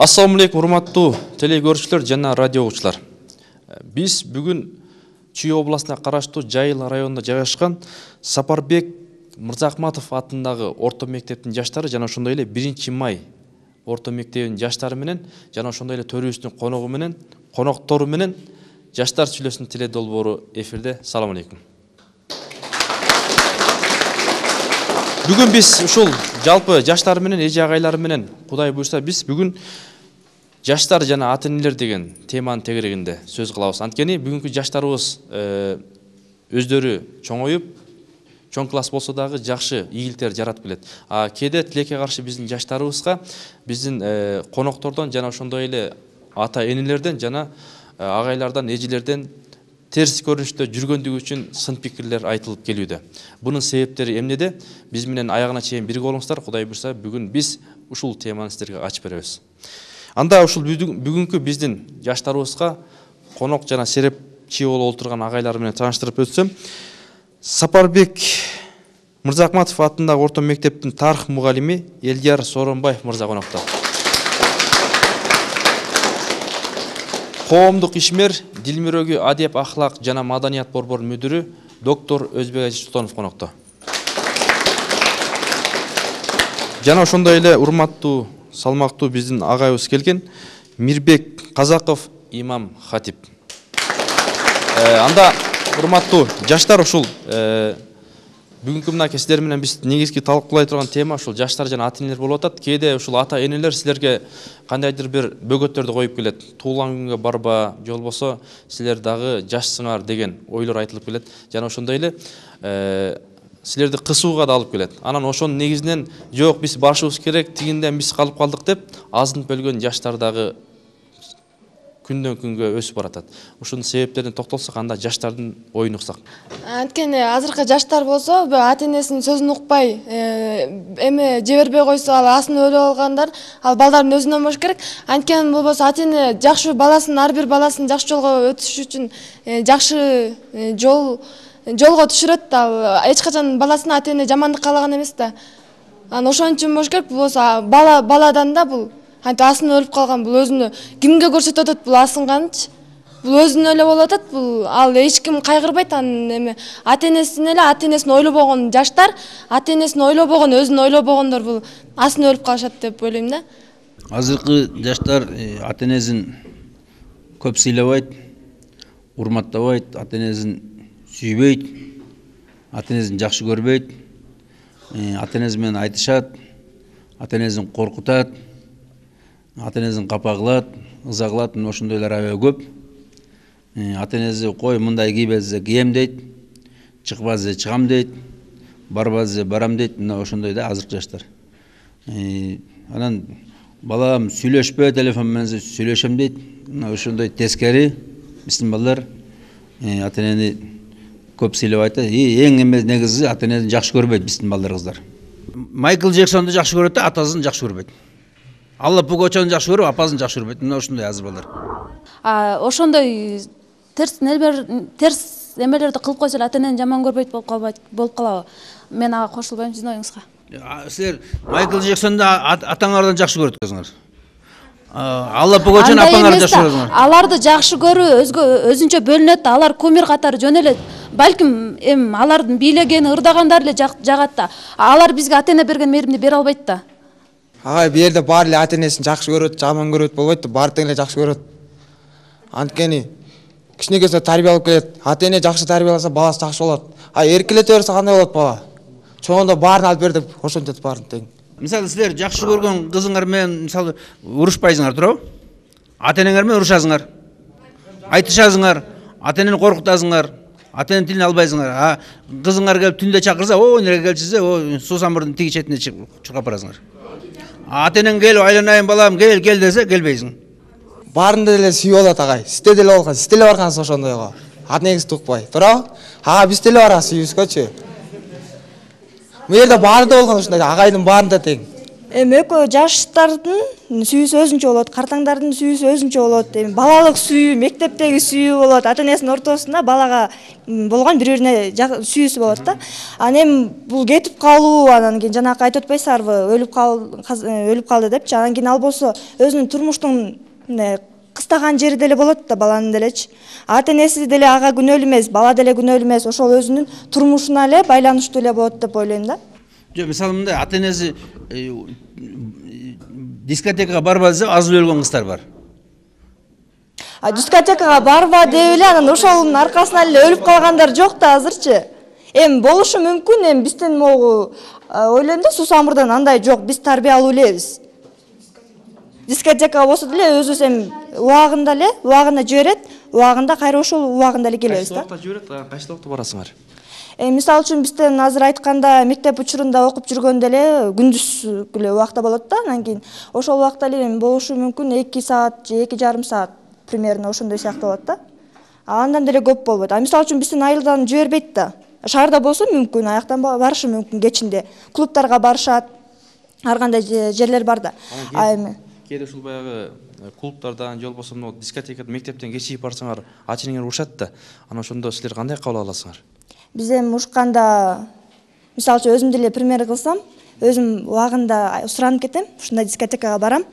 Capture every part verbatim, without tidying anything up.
Ассаламу алейкум, урматтуу телекөрүүчүлөр жана радио угуучулар. Биз бүгүн Чүй областына караштуу Жайыл районунда жайгашкан Сапарбек Мырзахматов атындагы орто мектептин жаштары жана ошондой эле биринчи май орто мектебинин жаштары менен жана ошондой эле төрүбүздүн коногу менен, коноктору менен жаштар сүйлөсүн теле долбоору эфирде. Салам алейкум. Бүгүн биз ушул жалпы жаштар менен, эже агайлар менен Кудай буйрса биз бүгүн жаштар жана ата энелер деген теманын тегерегинде сөз кылабыз. Анткени бүгүнкү жаштарыбыз өздөрү чоңоюп, чоң класс болсо дагы жакшы ийгиликтер жаратып келет. А кээде тилекке каршы биздин жаштарыбызга биздин коноктордон жана ошондой эле ата энелерден жана агайлардан, эжелерден терс көрүнүштө жүргөндүгү үчүн сын пикирлер айтылып келүүдө. Бунун себептери эмнеде? Биз менен аягына чейин бирге болуңуздар. Кудай буйрса бүгүн биз ушул теманы сиздерге ачып беребиз. Анда ушул бүгүнкү биздин жаштарыбызга конок жана серепчи болуп отурган агайлар менен тааныштырып өтсөм, Сапарбек Мырзахматов атындагы орто мектептин тарых мугалими Элдияр Сооронбаев мырза конокто. Коомдук ишмер, дил мөрөгү, адеп, ахлак жана маданият борборунун мүдүрү доктор Өзбек Ажитонов конокто. Жана ошондой эле урматтуу, салмактуу биздин агайыбыз келген Мирбек Казаков имам хатип. Анда урматтуу жаштар, ушул бүгүнкү мына сиздер менен биз негизги талкуулай турган тема ушул жаштар жана ата энелер болуп атат. Кээде ушул ата энелер силерге кандайдыр бир бөгөттөрдү коюп келет. Туулган күнгө барба, же болбосо силер дагы жашсыңар деген ойлор айтылып келет. Жана ошондой эле силерди кысууга да алып келет. Анан ошонун негизинен жок, биз барышыбыз керек, тигинден биз калып калдык деп азынып өлгөн жаштар дагы күндөн күнгө өсүп баратат. Ушунун себептерине токтолсок, анда жаштардын оюн уксак. Анткени азыркы жаштар болсо, ата энесинин сөзүн укпай, эме жибербей койсо, ал асын өлүп алгандар, ал балдардын өзүнөн болуш керек. Анткени болбосо ата эне жакшы баласын, ар бир баласын жакшы жолго өтүш үчүн жакшы жол жолго түшүрөт. Ал эч качан баласына ата эне жамандык каалаган эмес да. Анан ошон үчүн болуш керек. Болбосо бала баладан да бул антип асын өлүп калган, бул өзүнө кимге көрсөтүп атат, бул асынганчы. Бул өзүнө эле болуп атат, бул ал эч ким кайгырбайт. Анын эме ата энесин эле, ата энесин ойлобогон жаштар, ата энесин ойлобогон, өзүн ойлобогондор бул асын өлүп калышат деп ойлойм да. Азыркы жаштар ата энесин көп сыйлабайт, урматтабайт, ата энесин сүйбөйт, ата энесин жакшы көрбөйт, ата энеси менен айтышат, ата энесин коркутат, ата энесин капа кылат, ыза кылат. Ошондойлор аябай көп. Ата энеси кой мындай кий берсе кием дейт, чыкпа десе чыгам дейт, барба десе барам дейт. Мына ошондой да азыркы жаштар. Анан балам сүйлөшпө, телефон менен сүйлөшөм дейт. Мына ошондой тескери биздин балдар ата энени көп сыйлабайт. Эң эме негизи ата энесин жакшы көрбөйт биздин балдар, кыздар. Майкл Джексонду жакшы көрөт да, атасын жакшы көрбөйт. Алла Пугачаны жакшы көрүп, апасын жакшы көрбөйт. Мына ошондой азыр балдар. А ошондой терс нелер, терс эмелерди кылып койсо ата энени жаман көрбөйт болуп калбайт, болуп калабы? Мен ага кошулбайм, сиздин оюңузга. Силер Майкл Джексонду атаңардан жакшы көрөт экенсиңер. Алла Пугачаны апаңардан жакшы көрөсүңөр. Аларды жакшы көрүү өзгө өзүнчө бөлүнөт да, алар кумир катары жөнөлөт. Балким эм алардын бийлегени, ырдагандар эле жагат да. Алар бизге ата эне берген мээримди бере албайт да. Агай, бу жерде баары эле ата энесин жакшы көрөт, жаман көрөт болбойт да, баары тең эле жакшы көрөт. Анткени кичинекейден тарбия алып келет. Ата эне жакшы тарбияласа, баласы жакшы болот. А эркелете берсе кандай болот бала? Чоңондо баарын алып бер деп ошентет баарын тең. Мисалы силер жакшы көргөн кызыңар менен мисалы урушпайсыңар, туурабы? Ата энеңер менен урушасыңар. Айтышасыңар, ата энени коркутасыңар, ата эненин тилин албайсыңар. А кызыңар келип түндө чакырса, о, неге келчисе, о, суу самырдын тиги четине чуркап барасыңар. Ата энең келип айланайын балам, кел, кел десе келбейсиң. Баарында деле сүйүп алат агай. Сизде деле болгон, сиз деле баргансыз ошондойго. Ата энеңизди укпай, туурабы? Ага, биз деле барабыз сүйүүбүзгөчү. Бу жерде баарында болгон ушундай, агайдын баарында тең. Эми экөө жаштардын сүйүүсү өзүнчө болот, картаңдардын сүйүүсү өзүнчө болот. Эми балалык сүйүү, мектептеги сүйүү болот, ата энесинин ортосунда балага болгон бири-бирине сүйүүсү болот да. Анан эми бул кетип калуу, анан кийин жанакы айтып атпайсыздарбы, өлүп кал өлүп калды депчи. Анан кийин ал болсо өзүнүн турмуштун кыстаган жери деле болот да баланын делечи. Ата энеси деле ага күнөөлүү эмес, бала деле күнөөлүү эмес, ошол өзүнүн турмушуна эле байланыштуу эле болот деп ойлойм да. Жок, мисалы мындай ата энеси дискотекага барба десе азып өлгөн кыздар бар. А дискотекага барба деп эле анан ошонун аркасынан эле өлүп калгандар жок да азырчы. Эми болушу мүмкүн, эми бизден могу ойлойм да, Сусамурдан андай жок, биз тарбиялуу элебиз. Дискотека болсо деле өзүбүз эми убагында эле, убагында жиберет, убагында кайра ошол убагында эле келебиз да. Кайсы убакта жиберет, кайсы убакта барасыңар? Э, мисалы үчүн бизден азыр айтканда мектеп учурунда окуп жүргөндө эле күндүз эле убакта болот да, анан кийин ошол убакта эле болушу мүмкүн эки саат же эки жарым саат примерно ошондой сыяктуу болот да. А андан деле көп болбойт. А мисалы үчүн бизден айылдан жибербейт да. Шаарда болсо мүмкүн, аяктан барышы мүмкүн кечинде. Клубтарга барышат, ар кандай жерлер бар да. А эми кээде ушул баягы клубтардан же болбосо мына дискотекадан мектептен кечигип барсаңар, ата энеңер урушат да. Анан ошондо силер кандай кабыл аласыңар? Биз эми урушканда, мисалы үчүн өзүм деле пример кылсам, өзүм убагында суранып кетем, ушундай дискотекага барам.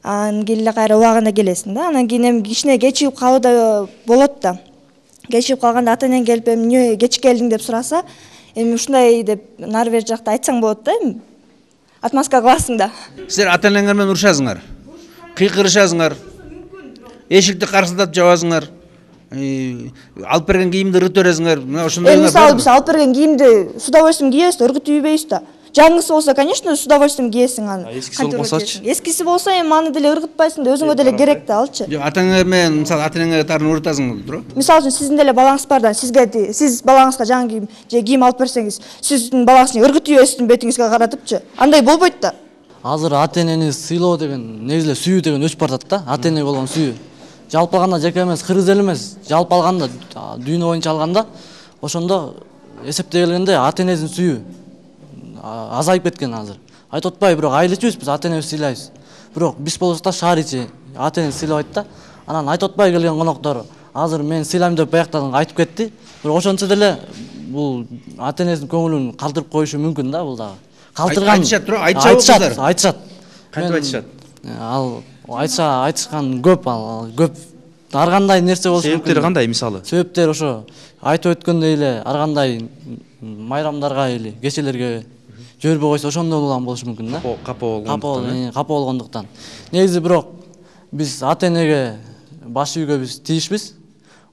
Анан кийин эле кайра убагында келесиң да. Анан кийин эми кичине кечигип калуу да болот да. Кечигип калганда ата энең келип эми эмне кеч келдиң деп сураса, эми ушундай деп нары бери жакта айтсаң болот да, эми отмазка кыласың да. Силер ата энеңер менен урушасыңар, кыйкырышасыңар, эшикти карсылдап жабасыңар, алып берген кийимди ыргыт бересиңер. Мына ошондой. Эми мисалы биз алып берген кийимди с удовольствием кийебиз да, ыргытып үйбөйбүз да. Жаңысы болсо, конечно, с удовольствием кийесиң аны. Эскиси болбосочу? Эскиси болсо эми аны деле ыргытпайсың да, өзүңө деле керек да, алчы. Жок, ата энеңер менен мисалы ата энеңерге тарын урутасың туурабы? Мисалы үчүн сиздин деле балаңыз бардан сизге сиз балаңызга жаңы кийим же кийим алып берсеңиз, сиздин балаңыз ыргытып үйөсүн бетиңизге каратыпчы. Андай болбойт да. Азыр ата энени сыйлоо деген, негизи эле сүйүү деген өчүп бартат да, ата эне болгон сүйүү. Жалпы алганда жеке эмес, кыргыз эл эмес, жалпы алганда, дүйнө боюнча алганда, ошондо эсептей келгенде ата энесин сүйүү азайып кеткен азыр. Айтып атпайбы, бирок айыл ичибиз биз ата энебизди сыйлайбыз. Бирок биз болсок да шаар ичи ата энени сыйлабайт да. Анан айтып атпай келген коноктор азыр мен сыйлайм деп баяктан айтып кетти. Бирок ошончо деле бул ата энесинин көңүлүн калтырып коюшу мүмкүн да, бул дагы. Калтырган айтышат туурабы? Айтышат, айтышат. Кантип айтышат? Ал айтса айтышкан көп, ал көп. Ар кандай нерсе болсо мүмкүн. Себептери кандай мисалы? Себептер ошо айтып өткөндөй эле ар кандай майрамдарга или кечелерге жибербей койсо ошондон улам болушу мүмкүн да. Капа болгондуктан. Капа болгондуктан. Негизи бирок биз ата энеге баш ийүүгө биз тийишпиз.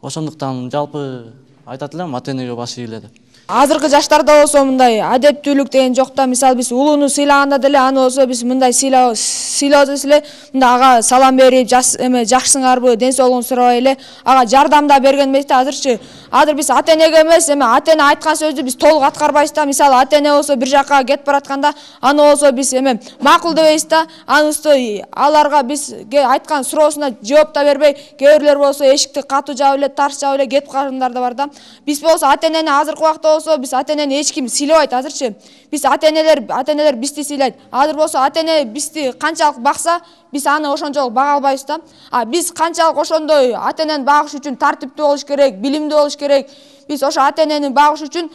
Ошондуктан жалпы айтат элем ата энеге баш ийгиле деп. Азыркы жаштарда болсо мындай адептүүлүк деген жок да. Мисалы биз улууну сыйлаганда деле аны болсо биз мындай сыйлоо сыйлоосуз эле мындай ага салам берип, эме жакшысыңарбы, ден соолугун сурабай эле ага жардам да берген эмес да. Азырчы азыр биз ата энеге эмес, эме ата эне айткан сөздү биз толук аткарбайбыз да. Мисалы ата эне болсо бир жакка кетип баратканда аны болсо биз эме макул дебейбиз да. Анысы аларга биз айткан суроосуна жооп да бербей, кээ бирлер болсо эшикти катуу жаап эле, тарс жаап эле кетип калгандар да бар да. Биз болсо ата энени азыркы убакта болсо биз ата энени эч ким сыйлабайт азырчы. Биз ата энелер ата энелер бизди сыйлайт. Азыр болсо ата эне бизди канчалык бакса, биз аны ошончолук бага албайбыз да. А биз канчалык ошондой ата энени багыш үчүн тартиптүү болуш керек, билимдүү болуш керек. Биз ошо ата энени багыш үчүн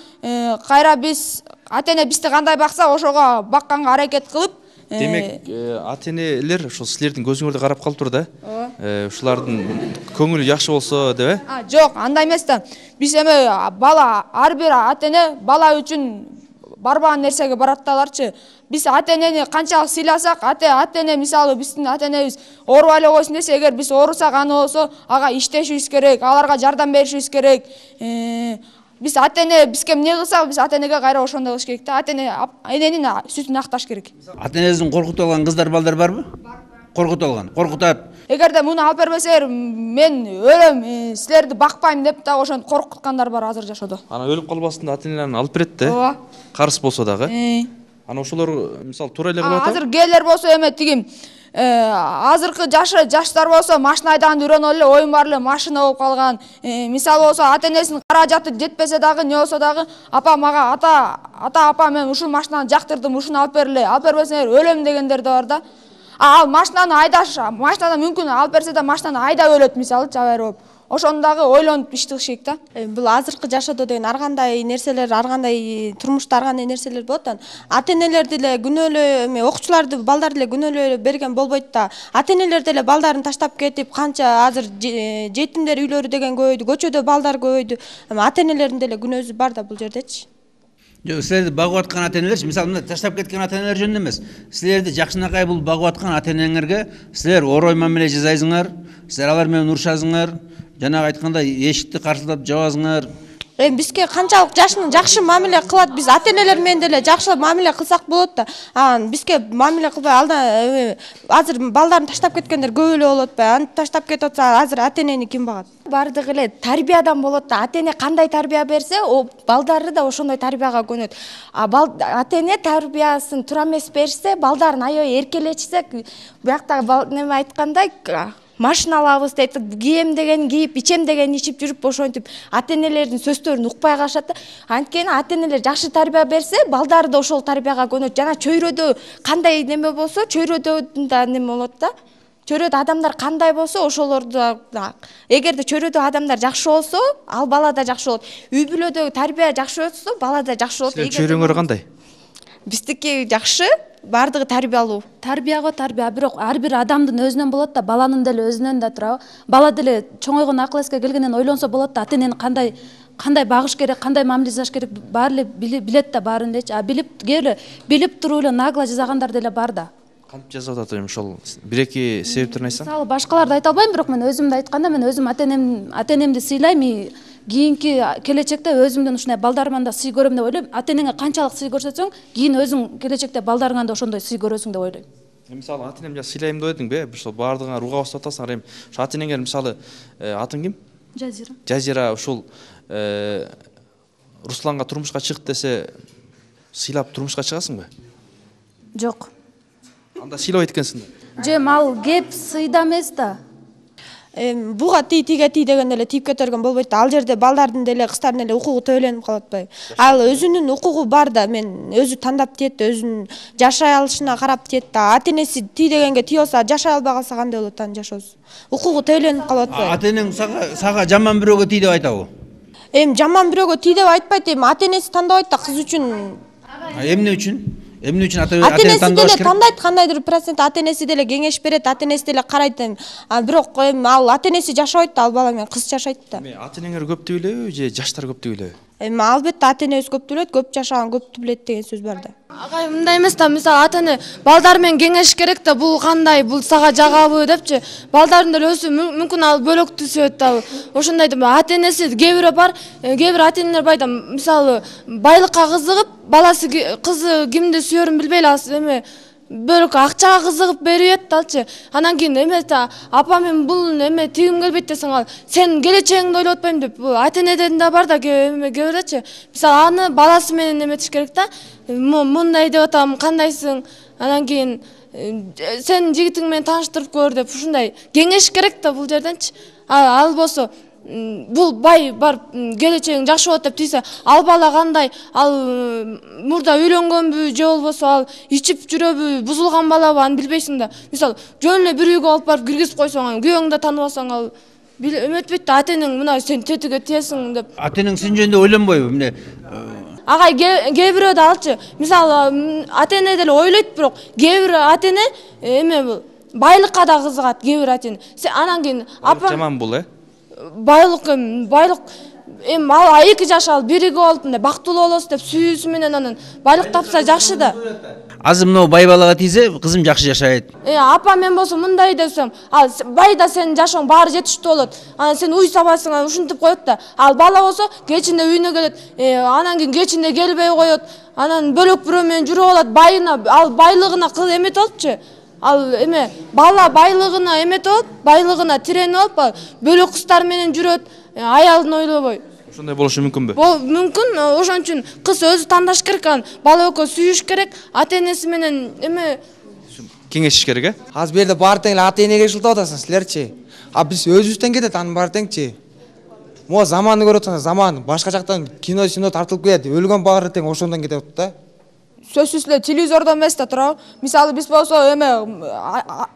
кайра биз ата эне бизди кандай бакса, ошого бакканга аракет кылып. Демек, ата энелер ошол силердин көзүңөрдү карап калыптыр да. Ушулардын көңүлү жакшы болсо деп, э? А, жок, андай эмес да. Биз эме бала, ар бир ата эне бала үчүн барбаган нерсеге барат да аларчы. Биз ата энени канчалык сыйласак, ата ата эне мисалы биздин ата энебиз оорубай эле койсун десе, эгер биз оорусак, аны болсо ага иштешибиз керек, аларга жардам беришибиз керек. Биз ата эне бизге эмне кылса, биз ата энеге кайра ошондой кылыш керек да. Ата эне эненин сүтүн акташ керек. Ата энесин коркутуп алган кыздар балдар барбы? Коркутуп алган, коркутат. Эгерде муну алып бербесеңер, мен өлөм, силерди бакпайм деп да ошентип коркуткандар бар азыр жашоодо. Анан өлүп калбасын ата энелерин алып берет да. Ооба. Карыс болсо дагы. Анан ошолор мисалы туура эле кылып атат. Азыр кээлер болсо эме тиги азыркы жашы жаштар болсо машина айдаганды үйрөнүп эле оюн бар эле машина болуп калган. Мисалы болсо ата энесинин каражаты жетпесе дагы не болсо дагы апа мага ата ата апа мен ушул машинаны жактырдым, ушуну алып бергиле, алып бербесеңер өлөм дегендер да бар да. Ал машинаны айдаш, машинаны мүмкүн алып берсе да машинаны айдап өлөт мисалы жабайыр болуп. Ошону дагы ойлонуп иш кылыш керек да. Бул азыркы жашоодо деген ар кандай нерселер, ар кандай турмушта ар кандай нерселер болот да. Ата энелерди эле күнөөлөө, эме окуучуларды, балдарды эле күнөөлөө берген болбойт да. Ата энелер деле балдарын таштап кетип, канча азыр жетимдер үйлөрү деген көбөйдү, көчөдө балдар көбөйдү. Ата энелердин деле күнөөсү бар да бул жердечи. Жок, силерди багып аткан ата энелер, мисалы мына таштап кеткен ата энелер жөнүндө эмес. Силерди жакшынакай бул багып аткан ата энеңерге силер орой мамиле жасайсыңар, силер алар менен урушасыңар, жанагы айткандай эшикти карсылдап жабасыңар. Эми бизге канчалык жашын жакшы мамиле кылат, биз ата энелер менен деле жакшы мамиле кылсак болот да. Анан бизге мамиле кылбай алда азыр балдарын таштап кеткендер көп эле болуп атпайбы? Аны таштап кетип атса азыр ата энени ким багат? Бардыгы эле тарбиядан болот да. Ата эне кандай тарбия берсе, о балдары да ошондой тарбияга көнөт. А ата эне тарбиясын туура эмес берсе, балдарын аябай эркелетсек, биякта неме айткандай машина алабыз дейт, кийем деген кийип, ичем деген ичип жүрүп ошентип ата энелердин сөздөрүн укпай калышат да. Анткени ата энелер жакшы тарбия берсе, балдары да ошол тарбияга көнөт. Жана чөйрөдө кандай неме болсо, чөйрөдө да неме болот да. Чөйрөдө адамдар кандай болсо, ошолорду да. Эгерде чөйрөдө адамдар жакшы болсо, ал бала да жакшы болот. Үй бүлөдө тарбия жакшы болсо, бала да жакшы болот. Чөйрөңөр кандай? Биздики жакшы, бардыгы тарбиялуу. Тарбияго тарбия, бирок ар бир адамдын өзүнөн болот да, баланын деле өзүнөн да турабы. Бала деле чоңойгон акыл эске келгенден ойлонсо болот да, ата энени кандай кандай багыш керек, кандай мамиле жасаш керек, баары эле билет да баарын элечи. А билип келе билип туруп эле нагло жасагандар деле бар да. Кантип жасап атат эми ошол бир-эки себептерин айтсаң? Мисалы башкаларды айта албайм, бирок мен өзүмдү айтканда, мен өзүм ата энем ата энемди сыйлайм. Кийинки келечекте өзүмдөн ушундай балдарыман да сый көрөм деп ойлойм. Ата энеңе канчалык сый көрсөтсөң, кийин өзүң келечекте балдарыңан да ошондой сый көрөсүң деп ойлойм. Мисалы ата энемди сыйлайм деп эдиңби? Ошол баардыгыңар руга басып атасыңар эми. Ошо ата энеңер мисалы атың ким? Жазира. Жазира ушул Русланга турмушка чык десе, сыйлап турмушка чыгасыңбы? Жок. Анда сыйлабайт экенсиң да. Же ал кеп сыйда эмес да. Эми буга тий тиге тий деген эле тийип кетерген болбойт да. Ал жерде балдардын деле кыздардын эле укугу төбөлөнүп калып атпайбы? Ал өзүнүн укугу бар да, мен өзү тандап тиет, өзүнүн жашай алышына карап тиет да. Ата энеси тий дегенге тий болсо, жашай албай калса кандай болот анын жашоосу? Укугу төбөлөнүп калып атпайбы? Ата энең сага сага жаман бирөөгө тий деп айтабы? Эми жаман бирөөгө тий деп айтпайт, эми ата энеси тандабайт да кыз үчүн. Эмне үчүн? Эмне үчүн ата энеси деле тандайт, кандайдыр процент ата энеси деле кеңеш берет, ата энеси деле карайт. А бирок эми ал ата энеси жашабайт да, ал бала менен кыз жашайт да. Эми ата энеңер көп деп ойлойбу же жаштар көп деп ойлойбу? Эми албетте ата энебиз көп деп ойлойт, көп жашаган көптү билет деген сөз бар да. Агай мындай эмес да, мисалы ата эне балдар менен кеңеш керек да, бул кандай, бул сага жагабы депчи. Балдардын деле өсү мүмкүн ал бөлөктү сүйөт да. Ошондой деп ата энеси кээ бирөө бар, кээ бир ата энелер байда мисалы байлыкка кызыгып, баласы кызы кимди сүйөрүн билбей эле эме бөлөк акчага кызыгып берип аталчы. Анан кийин эме да апа мен бул эме тигим келбейт десең, ал сен келечегиңди ойлоп атпайм деп ата энеден да бар да эме кээ мисалы аны баласы менен эметиш керек да. Мындай деп атам, кандайсың? Анан кийин сен жигитиң менен тааныштырып көр деп ушундай кеңеш керек да бул жерденчи. Ал болсо бул бай бар, келечегиң жакшы болот деп тийсе, ал бала кандай, ал мурда үйлөнгөнбү же болбосо ал ичип жүрөбү, бузулган балабы, аны билбейсиң да. Мисалы жөн эле бир үйгө алып барып киргизип койсоң, күйөөңдү да тааныбасаң, ал эметпейт да, ата энең мына сен тетиге тиесиң деп. Ата энең сен жөнүндө ойлонбойбу? Эмне агай кээ бирөө да алчы, мисалы ата эне деле ойлойт, бирок кээ бир ата эне эме бул байлыкка да кызыгат, кээ бир ата эне. Анан кийин апа жаман бул э? Байлык эми байлык эми ал эки жаш ал бириге болуп мындай бактылуу болосу деп сүйүүсү менен анан байлык тапса жакшы да. Азыр мына бай балага тийсе, кызым жакшы жашайт. Э апа мен болсо мындай десем, ал байда сенин жашооң баары жетиштүү болот. Анан сен уй сабайсың, ушинтип коет да. Ал бала болсо кечинде үйүнө келет, анан кийин кечинде келбей коет, анан бөлөк бирөө менен жүрүп алат, байына ал байлыгына кыз эметип алыпчы. Ал эме бала байлыгына эметип алып, байлыгына тиренип алып, бөлөк кыздар менен жүрөт, аялын ойлобой. Ошондой болушу мүмкүнбү? Бул мүмкүн, ошон үчүн кыз өзү тандаш керек, анан бала экөө сүйүш керек, ата энеси менен эме кеңешиш керек э? Азыр бу жерде баары тең эле ата энеге жылтап атасың силерчи. А биз өзүбүздөн кетет, анын баары теңчи. Могу заманды көрүп атсаңар, заман башка жактан кино сино тартылып келет, өлгөн баары тең ошондон кетет да. Сөзсүз эле телевизордон эмес да туурабы. Мисалы биз болсо эме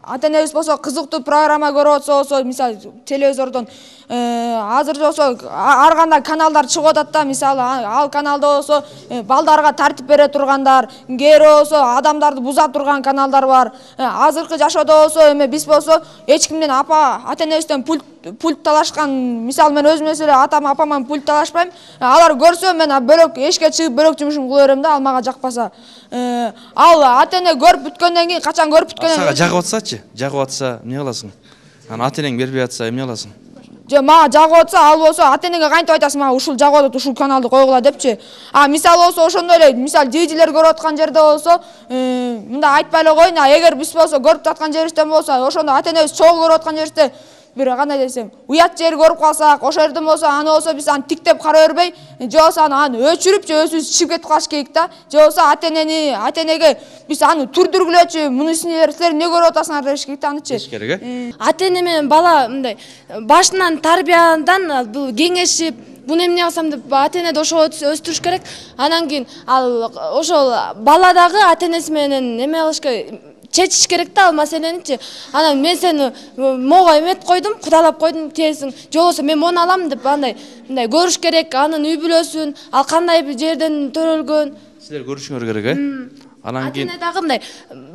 ата энебиз болсо кызыктуу программа көрүп атса болсо, мисалы телевизордон азыр болсо ар кандай каналдар чыгып атат да. Мисалы ал каналда болсо балдарга тартип бере тургандар, кээ болсо адамдарды буза турган каналдар бар. Азыркы жашоодо болсо эме биз болсо эч кимден апа ата энебизден пульт пульт талашкан, мисалы мен өзүм эле атам апаман пульт талашпайм. Алар көрсө мен бөлөк эшикке чыгып бөлөк жумушум кыла берем да, ал мага жакпаса. Ал ата эне көрүп бүткөндөн кийин, качан көрүп бүткөндөн кийин жагып атсачы, жагып атса эмне кыласың? Анан ата энең бербей атса эмне кыласың? Же мага жагып атса, ал болсо ата энеге кантип айтасың, мага ушул жагып атат, ушул каналды койгула депчи. А мисалы болсо ошондой эле, мисалы жейдилер көрүп аткан жерде болсо, мындай айтпай эле коеюн, эгер биз болсо көрүп аткан жерибизден болсо, ошондо ата энебиз чогуу көрүп аткан жерибизде бир кандай десем, уят жер көрүп калсак, ошол жерден болсо, аны болсо биз аны тиктеп кара бербей, же болсо аны өчүрүп, же өзүбүз чыгып кетип калыш керек да. Же болсо ата энени, ата энеге биз аны түрдүргүлөчү, муну силер эмне көрүп атасыңар деш керек да, анычы. Деш керек э? Ата эне менен бала мындай башынан тарбиядан бул кеңешип, буну эмне кылсам деп ата энеди ошого өстүрүш керек. Анан кийин ал ошол бала дагы ата энеси менен эме кылыш керек, чечиш керек да ал маселеничи. Анан мен сени могу эмет койдум, кудалап койдум тиесиң, же болбосо мен мону алам деп андай мындай көрүш керек, анын үй бүлөсүн, ал кандай бир жерден төрөлгөн. Силер көрүшүңөр керек э? Анан кийин ата эне дагы мындай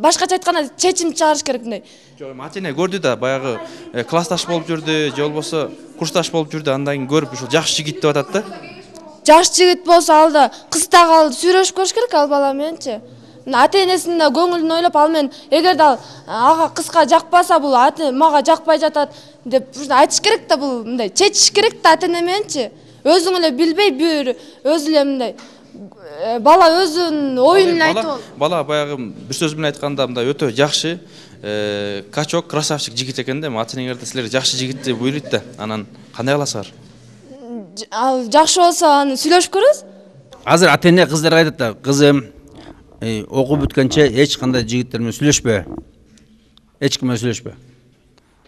башкача айтканда чечим чыгарыш керек мындай. Жок, ата эне көрдү да, баягы классташ болуп жүрдү, же болбосо курсташ болуп жүрдү, андан кийин көрүп ушул жакшы жигит деп атат да. Жаш жигит болсо ал да кыз дагы ал сүйлөшүп көрүш керек ал бала мененчи. Ата энесинин да көңүлүн ойлоп, ал мен эгерде ал ага кызга жакпаса, бул мага жакпай жатат деп айтыш керек да, бул мындай чечиш керек да ата эне мененчи. Өзүң эле билбей бир өзү эле мындай бала өзүнүн оюн эле айтып. Бала баягы бир сөз менен айтканда мындай өтө жакшы, качок, красавчик жигит экен да. Ата энеңерде силер жакшы жигитти буйройт да. Анан кандай кыласыңар? Ал жакшы болсо аны сүйлөшүп көрөбүз. Азыр ата эне кыздарга айтат да, кызым, окуп бүткөнчө эч кандай жигиттер менен сүйлөшпө. Эч ким менен сүйлөшпө.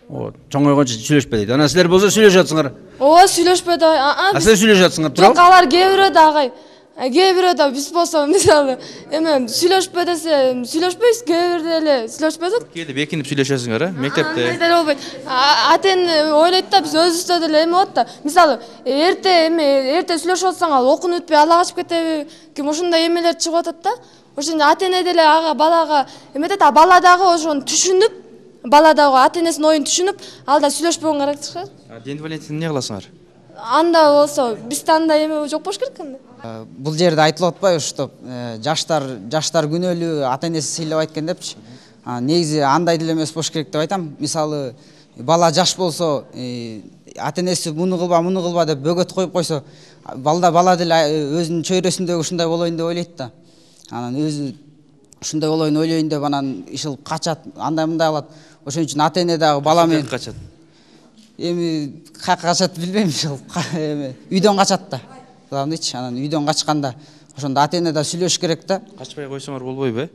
Вот, чоңойгончо сүйлөшпө дейт. Анан силер болсо сүйлөшүп атсыңар. Ооба, сүйлөшпөй да. А силер сүйлөшүп атсыңар, туурабы? Жок, алар кээ бирөө да агай. Кээ бирөө да биз болсо мисалы эме сүйлөшпө десе сүйлөшпөйбүз, кээ бирде эле сүйлөшпөсөк. Кээде бекинип сүйлөшөсүңөр э, мектепте. Андай деле болбойт. Ата эне ойлойт да, биз өзүбүздө деле эме болот да. Мисалы, эрте эме эрте сүйлөшүп атсаң, ал окунуп бүтпөй ала качып кетеби? Ким ошондой эмелер чыгып атат да. Ошондо ата эне деле ага балага эметет, а бала дагы ошону түшүнүп, бала дагы ата энесинин оюн түшүнүп, ал да сүйлөшпөгөн керек чыгат. А Ден Валентин эмне кыласыңар? Анда болсо бизде андай эме жок болуш керек анда. Бул жерде айтылып атпайбы, ушту жаштар жаштар күнөөлүү, ата энеси сыйлабайт экен депчи. Негизи андай деле эмес болуш керек деп айтам. Мисалы, бала жаш болсо, ата энеси муну кылба, муну кылба деп бөгөт коюп койсо, балда бала деле өзүнүн чөйрөсүндөгү ушундай болоюн деп ойлойт да. Анан өзү ушундай болоюн ойлойн деп анан ишыл качат, андай мындай кылат. Ошон үчүн ата эне дагы бала менен качат. Эми каяка качат билбейм, ушул эми үйдөн качат да. Главныйчы, анан үйдөн качканда ошондо ата эне да сүйлөшүш керек да. Качпай койсоңор болбойбу э?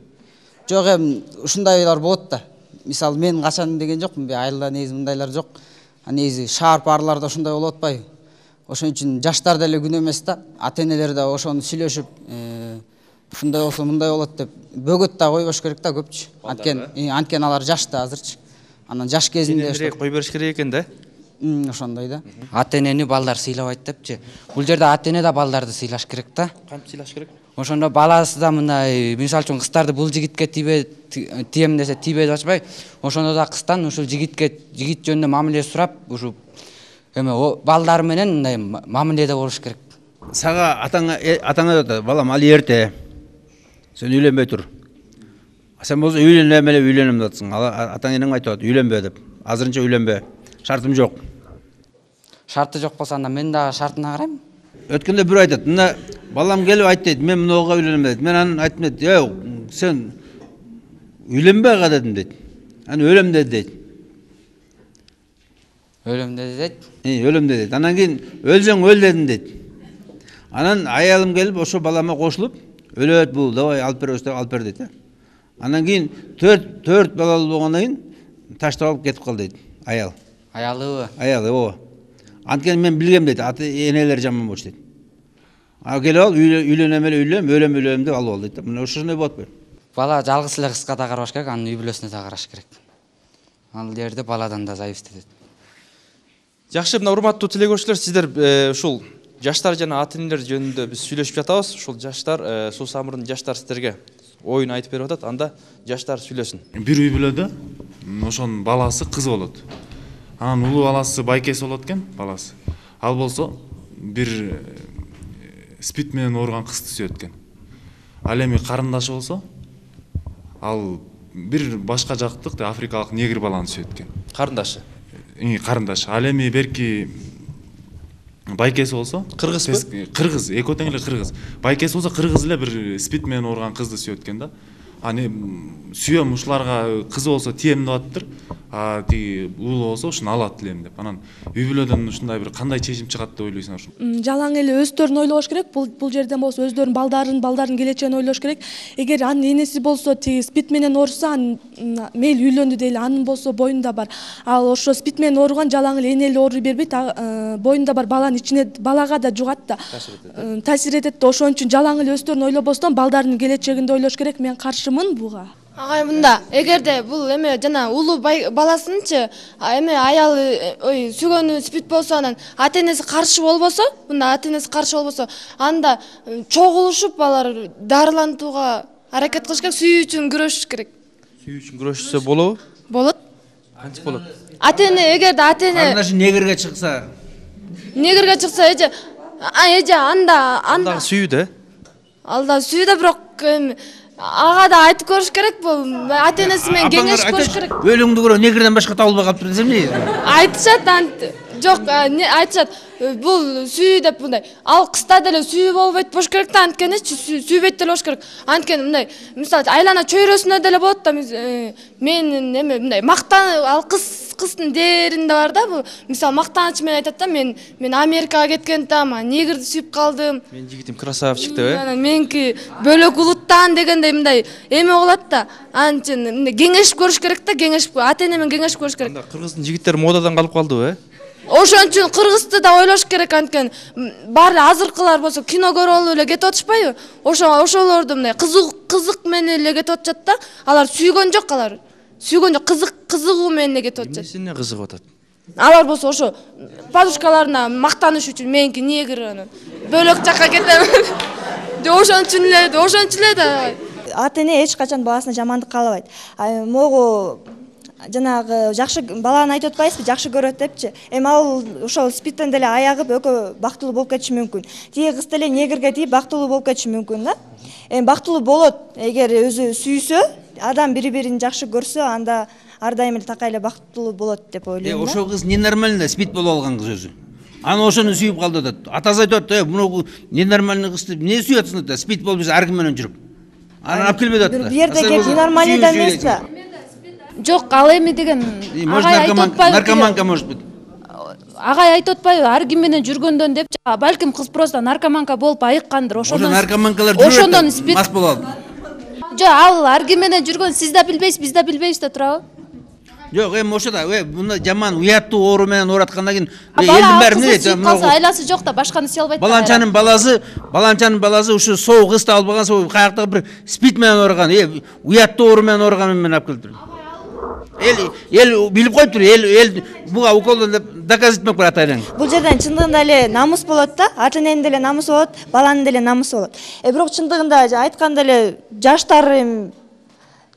Жок, эми ушундайлар болот да. Мисалы, мен качан деген жокмун, айылда негизи мындайлар жок. А негизи шаар парларда ушундай болуп атпайбы? Ошон үчүн жаштар деле күнөө эмес да. Ата энелер да ошону сүйлөшүп, ушундай болсо мындай болот деп бөгөт да койбош керек да көпчү. Анткени анткени алар жаш да азырчы. Анан жаш кезинде кой бериш керек экен да. Ошондой да. Ата энени балдар сыйлабайт депчи. Бул жерде ата эне да балдарды сыйлаш керек да. Кантип сыйлаш керек? Ошондо баласы да мындай, мисалы үчүн кыздарды бул жигитке тийбе тием десе тийбей атпай, ошондо да кыздан ушул жигитке жигит жөнүндө мамиле сурап, ушу эме балдар менен мындай мамиледе болуш керек. Сага атаңа атаңа айтат, балам, али эрте. Сен үйлөнбөй тур. Сен болсо үйлөнөм эле үйлөнөм деп атсың. Атаң энең айтып атат, үйлөнбө деп. Азырынча үйлөнбө. Шартым жок. Шарты жок болсо анда мен дагы шартына карайм. Өткөндө бир айтат, мына балам келип айт дейт, мен мынага үйлөнөм дейт. Мен анын айтып дейт, "Эй, сен үйлөнбөй ага" дедим дейт. Аны өлөм dedi дейт. Өлөм dedi дейт. Э, өлөм dedi дейт. Анан кийин өлсөң өл дедим дейт. Анан аялым келип ошо балама кошулуп, өлөт бул, давай алып беребиз деп алып бер дейт. Андан кийин төрт төрт балалуу болгондон кийин таштап алып кетип калды дейт аял. Аялыбы? Аялы, ооба. Анткени мен билгем дейт, ата энелери жаман болчу дейт. А келип алып үйлөнөм эле үйлөнөм, өлөм өлөм деп алып алды дейт. Мына ошондой болот го. Бала жалгыз эле кызга да карабаш керек, анын үй бүлөсүнө да караш керек. Ал жерде баладан да зависит этет. Жакшы, мына урматтуу телегөрүүчүлөр, сиздер ушул жаштар жана ата энелер жөнүндө биз сүйлөшүп жатабыз. Ушул жаштар, Суу Самырдын жаштар сиздерге оюн айтып берип атат. Анда жаштар сүйлөсүн. Бир үй бүлөдө ошонун баласы кыз болот. Анын улуу баласы байкеси болот экен, баласы. Ал болсо бир спид менен ооруган кызды сүйөт экен. Ал эми карындашы болсо, ал бир башка жактык африкалык негр баланы сүйөт экен. Карындашы. Карындашы. Ал эми берки байкеси болсо, кыргызбы? Кыргыз, экөө тең эле кыргыз. Байкеси болсо кыргыз эле бир спид менен ооруган кызды сүйөт экен да. Аны сүйөм, ушуларга кызы болсо тием деп атыптыр. А тиги уулу болсо ушуну алат элем деп. Анан үй бүлөдөн ушундай бир кандай чечим чыгат деп ойлойсуңар? Жалаң эле өздөрүн ойлош керек. Бул бул жерден болсо өздөрүнүн балдарын, балдарын келечегин ойлош керек. Эгер анын энеси болсо тиги спид менен ооруса, мейли үйлөндү дейли, анын болсо боюнда бар. Ал ошо спид менен ооруган жалаң эле эне эле ооруй бербейт, боюнда бар баланын ичине балага да жугат да. Таасир этет да. Ошон үчүн жалаң эле өздөрүн ойлобостон балдарынын келечегинде ойлош керек. Мен каршымын буга. Агай мында, эгерде бул эме жана улуу баласынчы эме аялы ой сүйгөнү спид болсо, анан ата энеси каршы болбосо, мында ата энеси каршы болбосо, анда чогулушуп алар дарылантууга аракет кылыш керек, сүйүү үчүн күрөшүш керек. Сүйүү үчүн күрөшсө болобу? Болот. Кантип болот? Ата эне эгерде ата эне Карындашы негрге чыкса, негрге чыкса, эже эже анда анда сүйүү да. Алда сүйүү да, бирок эми ага да айтып көрүш керек, бул ата энеси менен кеңешип көрүш керек. Өлүңдү көрө негрден башка табылбай калыптыр десем эмне? Айтышат, жок, айтышат. Бул сүйүү деп мындай. Ал кызда деле сүйүү болбойт болуш керек да, анткени сүйбөйт деле болуш керек. Анткени мындай, мисалы айлана чөйрөсүнө деле болот да. Мен эме мындай мактан, ал кыз кыздын дээринде бар да, бул мисалы мактаныч менен айтат да, мен мен Америкага кеткендем, негрди сүйүп калдым. Мен жигитим красавчик деп, э? Меники бөлөк улуттан дегендей мындай эме болот да. Анчын мындай кеңешип көрүш керек да, кеңешип, ата эне менен кеңешип көрүш керек. Анда кыргыздын жигиттери модадан калып калдыбы, э? Ошон үчүн кыргызды да ойлош керек, анткени баары азыркылар болсо кино көрүп алып эле кетип атышпайбы? Ошо ошолорду мындай кызык кызык менен эле кетип атышат да. Алар сүйгөн жок, алар сүйгөн жок, кызык кызыгуу менен эле кетип атышат. Эмнесине кызыгып атат? Алар болсо ошо подружкаларына мактаныш үчүн, меники негр анан бөлөк жакка кетем. Ошон үчүн эле, ошон үчүн эле да. Ата эне эч качан баласына жамандык каалабайт. Могу жанагы жакшы баланы айтып атпайсызбы, жакшы көрөт депчи. Эми ал ошол спидтен деле аягып экөө бактылуу болуп кетиши мүмкүн. Тиги кыз деле негрге тийип бактылуу болуп кетиши мүмкүн да. Эми бактылуу болот, эгер өзү сүйсө, адам бири-бирин жакшы көрсө, анда ар дайым эле такай эле бактылуу болот деп ойлойм. Э, ошол кыз ненормальный спид болуп алган кыз өзү. Аны ошону сүйүп калды атат. Атасы айтып атты, "Муну ненормальный кызды эмне сүйүп атсың?" деп. Спид болуп ар ким менен жүрүп. Аны алып келбей атты. Бул жерде кеп ненормальныйда эмес да. Жок, ал эми деген агай айтып атпайбы? Наркоманка может быть. Агай айтып атпайбы, ар ким менен жүргөндөн депчи. Балким кыз просто наркоманка болуп айыккандыр. Ошондон Ошо наркоманкалар жүрөт. Мас болот. Жок, ал ар ким менен жүргөн, сиз да билбейсиз, биз да билбейбиз да турабы? Жок, эми ошо да, э, мында жаман уяттуу оору менен оораткандан кийин элдин баары эмне дейт? Калса айласы жок да, башканы сүйө албайт. Баланчанын баласы, баланчанын баласы ушу соол кызды алып алган, соол каяктагы бир спид менен ооруган, э, уяттуу оору менен ооруган менен алып келиптир. Эл эл билип коюптур, эл эл буга уколдон деп доказать этмек бар ата-энең. Бул жерден чындыгында эле намыс болот да, ата эненин деле намысы болот, баланын деле намысы болот. Э бирок чындыгында айтканда эле жаштар эми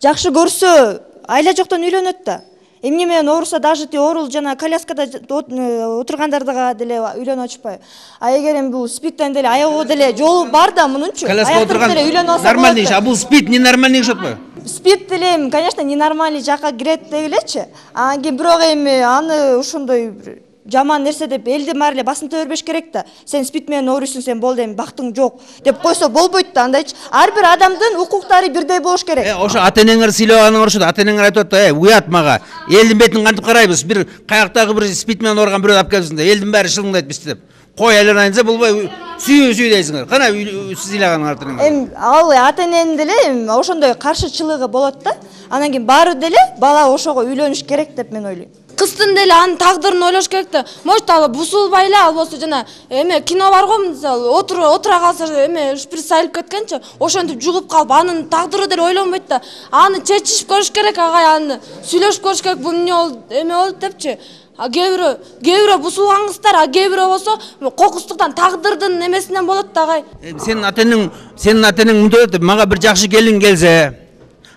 жакшы көрсө, айла жоктон үйлөнөт да. Эмне менен ооруса, даже ти оорул жана коляскада отургандардыга деле үйлөнүп атышпайбы? А эгер эми бул спидтен деле аягоо деле жолу бар да мунунчу. Коляскада отурган нормальный иш, а бул спид ненормальный иш атпайбы? Спид деле, конечно, ненормальный жакка кирет дегилечи. Анан кийин бирок эми аны ошондой жаман нерсе деп элдин баары эле басынта бербеш керек да. Сен спид менен ооруйсуң, сен болду эми бактың жок деп койсо болбойт да, андайчы. Ар бир адамдын укуктары бирдей болуш керек. Э, ошо ата-энеңер сыйлаганыңар ошо, ата-энеңер айтып атты, "Э, уят мага. Элдин бетин кантип карайбыз? Бир каяктагы бир спид менен ооруган бирөө алып келсин да, элдин баары шылыңдайт бизди" деп. кой айланайынса болбой сүйүү сүйүү дейсиңер. Кана сыйлаган артынан. Эми ал ата эненин деле ошондой каршычылыгы болот да. Анан кийин баары деле бала ошого үйлөнүш керек деп мен ойлойм. Кыздын деле анын тагдырын ойлош керек да. Может ал бусулбай эле албосо жана эме кино бар го, мисалы отура отура калса эме шприц айылып кеткенчи, ошентип жугуп калып анын тагдыры деле ойлонбойт да. Аны чечишип көрүш керек, агай аны сүйлөшүп көрүш керек, бул эмне болду, эме болду депчи. А кээ бирөө, кээ бирөө бусулган кыздар, а кээ бирөө болсо кокустуктан тагдырдын эмесинен болот да, агай. Сенин атаң, сенин атаң мындай мага бир жакшы келин келсе,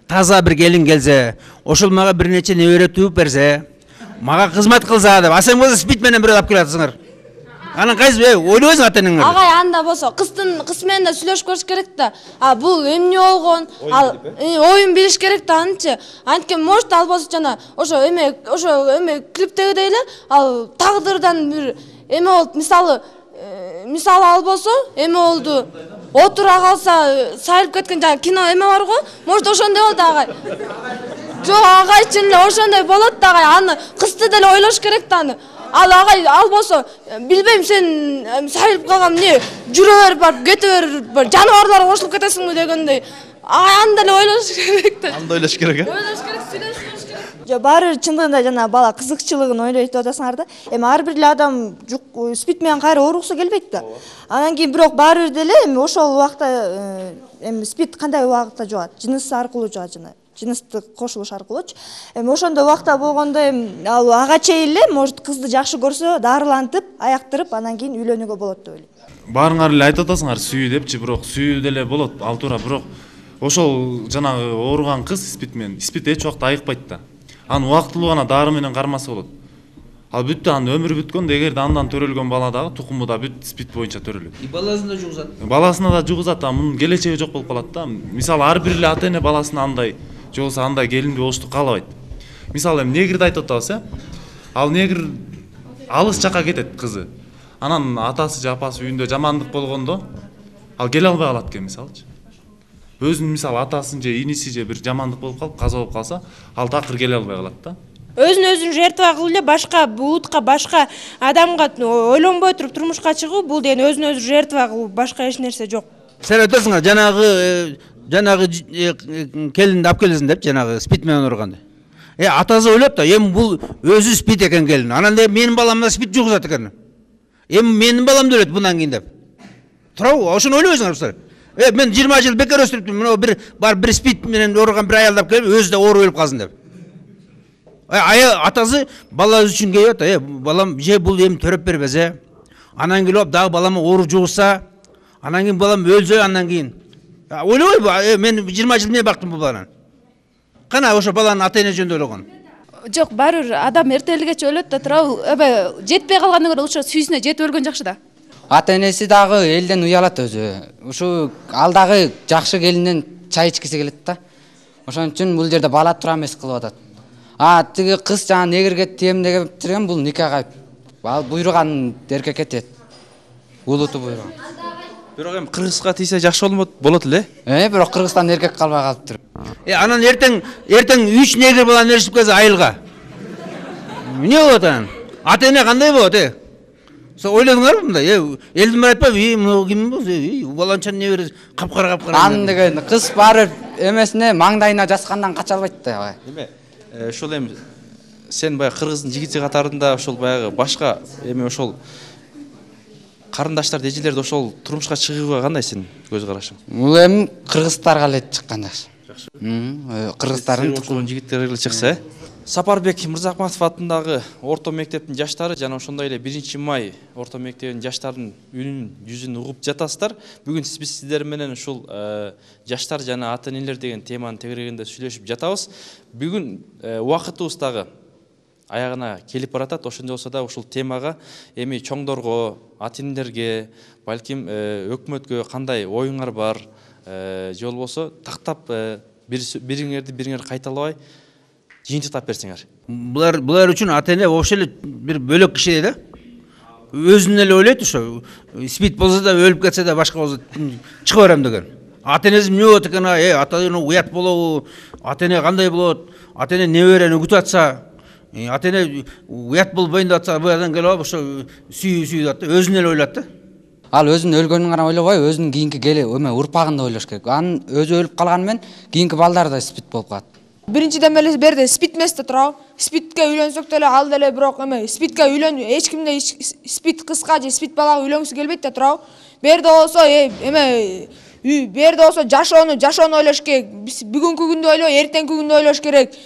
таза бир келин келсе, ошол мага бир нече небере тууп берсе, мага кызмат кылса деп, а сен болсо спит менен бирөө алып келатсыңар. Анан кайсы ойлойсуң атаңыңар? Агай анда болсо кыздын кыз менен да сүйлөшүп көрүш керек да. А бул эмне болгон? Ал оюн билиш керек да анчы. Анткени может ал болсо жана ошо эме ошо эме клиптегидей эле ал тагдырдан бир эме болуп, мисалы мисалы ал болсо эме болду. Отура калса сайылып кеткен жана кино эме бар го? Может ошондой болду, агай. Жок, агай чын эле ошондой болот да, агай. Аны кызды деле ойлош керек да аны. Ал агай ал болсо билбейм, сен сайылып калган эмне жүрө берип барып кете берип жаныбарларга кошулуп кетесиңби дегендей. Агай аны деле ойлош керек да. Аны ойлош керек э? Ойлош керек, сүйлөшүш керек. Жок, баары чындыгында жана бала кызыкчылыгын ойлойт деп атасыңар да. Эми ар бир эле адам спит менен кайра ооругусу келбейт да. Анан кийин бирок баары бир деле эми ошол убакта эми спит кандай убакытта жугат? Жыныс аркылуу жугат жана. Жыныстык кошулуш аркылуучу. Эми ошондой убакта болгондо эми ал ага чейин эле может кызды жакшы көрсө, дарылантып, аяктырып, анан кийин үйлөнүүгө болот деп ойлойм. Баарыңар эле айтып атасыңар сүйүү депчи, бирок сүйүү деле болот, ал туура, бирок ошол жанагы ооруган кыз спит менен, спит эч убакта айыкпайт да. Аны убактылуу гана дары менен кармаса болот. Ал бүттү, анын өмүрү бүткөн, эгерде андан төрөлгөн бала дагы тукуму да бүт спит боюнча төрөлөт. И баласын да жугузат. Баласына да жугузат, а мунун келечеги жок болуп калат да. Мисалы ар бир эле ата эне баласына андай же болбосо андай келинди болушту каалабайт. Мисалы эми негирди айтып атабыз, э? Ал негир алыс жакка кетет кызы. Анан атасы же апасы үйүндө жамандык болгондо ал келе албай калат экен, мисалычы. Өзүнүн мисалы атасын же иниси же бир жамандык болуп калып, каза болуп калса, ал такыр келе албай калат да. Өзүн өзүн жертва кылып эле башка булутка, башка адамга ойлонбой туруп турмушка чыгуу, бул деген өзүн өзү жертва кылуу, башка эч нерсе жок. Сен айтасыңар, жанагы жанагы келинди алып келесиң деп, жанагы спит менен ооруганды. Э, атасы ойлоп да, эми бул өзү спит экен келин. Анан да менин баламда спит жугузат экен. Эми менин балам да өлөт мындан кийин деп. Туурабы? Ошону ойлобойсуңар силер? Э, мен жыйырма жыл бекер өстүрүптүм. Мына бир бар бир спит менен ооруган бир аялды алып келип, өзү да оору өлүп калсын деп. Ая атасы баласы үчүн келип атат. Э, балам же бул эми төрөп бербесе, анан келип дагы балама оору жугузса, анан кийин балам өлсө, андан кийин ойлобойбу? Мен жыйырма жыл эмне бактым бул баланы. Кана ошо баланын ата эне жөнүндө ойлогон. Жок, баары бир адам эртелигече өлөт да, туурабы? Эбе жетпей калгандан көрө ошо сүйүүсүнө жетип өлгөн жакшы да. Ата энеси дагы элден уялат өзү. Ушу ал дагы жакшы келинден чай ичкиси келет да. Ошон үчүн бул жерде бала тура эмес кылып атат. А тиги кыз жана негирге тиемдеген битирген бул никага ал буйруган эркекке тиет. Улуту буйруган. Бирок эми кыргызга тийсе жакшы болмот болот эле. Э, бирок Кыргызстан эркек калбай калыптыр. Э, анан эртең эртең үч негир баланы ээрчип келсе айылга. Эмне болот анан? Ата эне кандай болот, э? Со ойлодуңарбы мындай? Э, элдин баары айтпайбы? Э, мына ким болсо, э, баланчанын небери капкара капкара. Аны деген кыз баары эмесине маңдайына жаскандан кача албайт да. Эме, ошол эми сен баягы кыргыздын жигити катарында ошол баягы башка эми ошол карындаштар, эжелерди ошол турмушка чыгууга кандай сен көз карашың? Бул эми кыргыздарга эле чыккан жакшы. Кыргыздардын тукумун жигиттерге эле чыкса, э? Сапарбек Мырзахматов атындагы орто мектептин жаштары жана ошондой эле биринчи май орто мектебинин жаштарынын үнүн жүзүн угуп жатасыздар. Бүгүн биз сиздер менен ушул жаштар жана ата энелер деген теманын тегерегинде сүйлөшүп жатабыз. Бүгүн убакытыбыз дагы аягына келип баратат. Ошондой болсо да ушул темага эми чоңдорго, ата энелерге, балким өкмөткө кандай оюңар бар, же болбосо тактап бириңерди бириңер кайталабай жыйынтыктап берсеңер. Булар булар үчүн ата эне вообще эле бир бөлөк киши да. Өзүн эле ойлойт ошо. Спит болсо да өлүп кетсе да башка болсо чыга берем деген. Ата энеси эмне болот экен? Э, ата эне уят болобу? Ата эне кандай болот? Ата эне неберени үгүтүп атса, ата эне уят болбойн деп атса, буядан келип алып ошо сүйүү сүйүү деп өзүн эле ойлойт да. Ал өзүнүн өлгөнүн гана ойлобой, өзүнүн кийинки кели эме урпагын да ойлош керек. Анын өзү өлүп калганы менен кийинки балдар да спид болуп калат. Биринчиден эле берде спид эмес да турабы. Спидке үйлөнсөк деле ал деле бирок эме спидке үйлөн эч кимде спид кызга же спид балага үйлөнгүсү келбейт да турабы. Берде болсо эме берде болсо жашоону жашоону ойлош керек. Биз бүгүнкү күндү ойлобой, эртеңки күндү ойлош керек.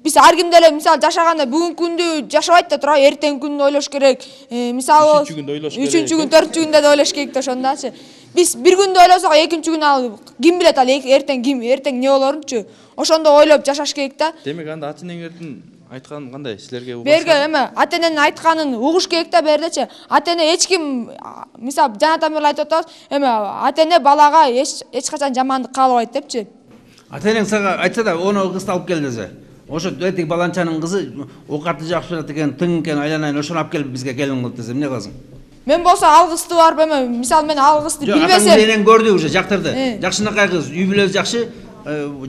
Биз ар ким деле мисалы жашаганда бүгүнкү күндү жашабайт да турабы, эртеңки күндү ойлош керек. Мисалы үчүнчү күндү ойлош керек. үчүнчү күн, төртүнчү күндө да ойлош керек да ошондачы. Биз бир күндү ойлосок, экинчи күнү ал ким билет ал эртең ким, эртең эмне болорунчу. Ошондо ойлоп жашаш керек да. Демек анда ата энеңердин айтканы кандай силерге угасыз? Берге эме ата эненин айтканын угуш керек да бердечи. Ата эне эч ким мисалы жанатан бери айтып атабыз, эме ата эне балага эч эч качан жамандык каалабайт депчи. Ата энең сага айтса да, оны кызды алып кел десе, ошо этиги баланчанын кызы оокаты жакшы болот экен, тың экен, айланайын, ошону алып келип бизге келин кылып десе, эмне кыласың? Мен болсо ал кызды барып эме мисалы мен ал кызды билбесем. Атаң менен көрдү уже, жактырды. Жакшынакай кыз, үй бүлөсү жакшы,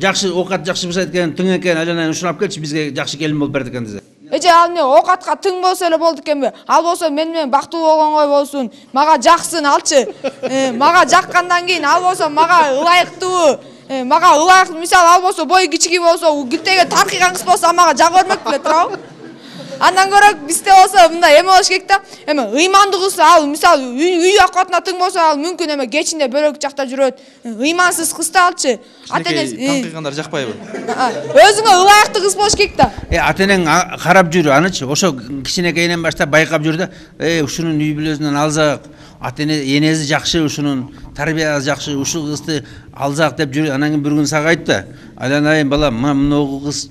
жакшы оокат жакшы башайт экен, тың экен, айланайын, ошону алып келчи, бизге жакшы келин болуп берди экен десе. Эже ал эмне оокатка тың болсо эле болду экенби? Ал болсо мен менен бактылуу болгонгой болсун, мага жаксын алчы. Мага жаккандан кийин ал болсо мага ылайыктуу, мага ылайыктуу, мисалы ал болсо бою кичиги болсо, гүлтеге таркыйган кыз болсо мага жагы бермек беле турабы? Андан көрө бизде болсо мындай эме болуш керек да. Эме ыймандуу кыз ал мисалы үй акыбатына тың болсо ал мүмкүн эме кечинде бөлөк жакта жүрөт. Ыймансыз кыз да алчы. Ата энеси таңкыйгандар жакпайбы? Өзүңө ылайыктуу кыз болуш керек да. Э ата энең карап жүр анычы, ошо кичинекейинен баштап байкап жүр да, э ушунун үй бүлөсүнөн алзак, ата эне энеси жакшы, ушунун тарбиясы жакшы, ушул кызды алзак деп жүр. Анан кийин бир күн сага айтты, айланайын балам, мына мынау кыз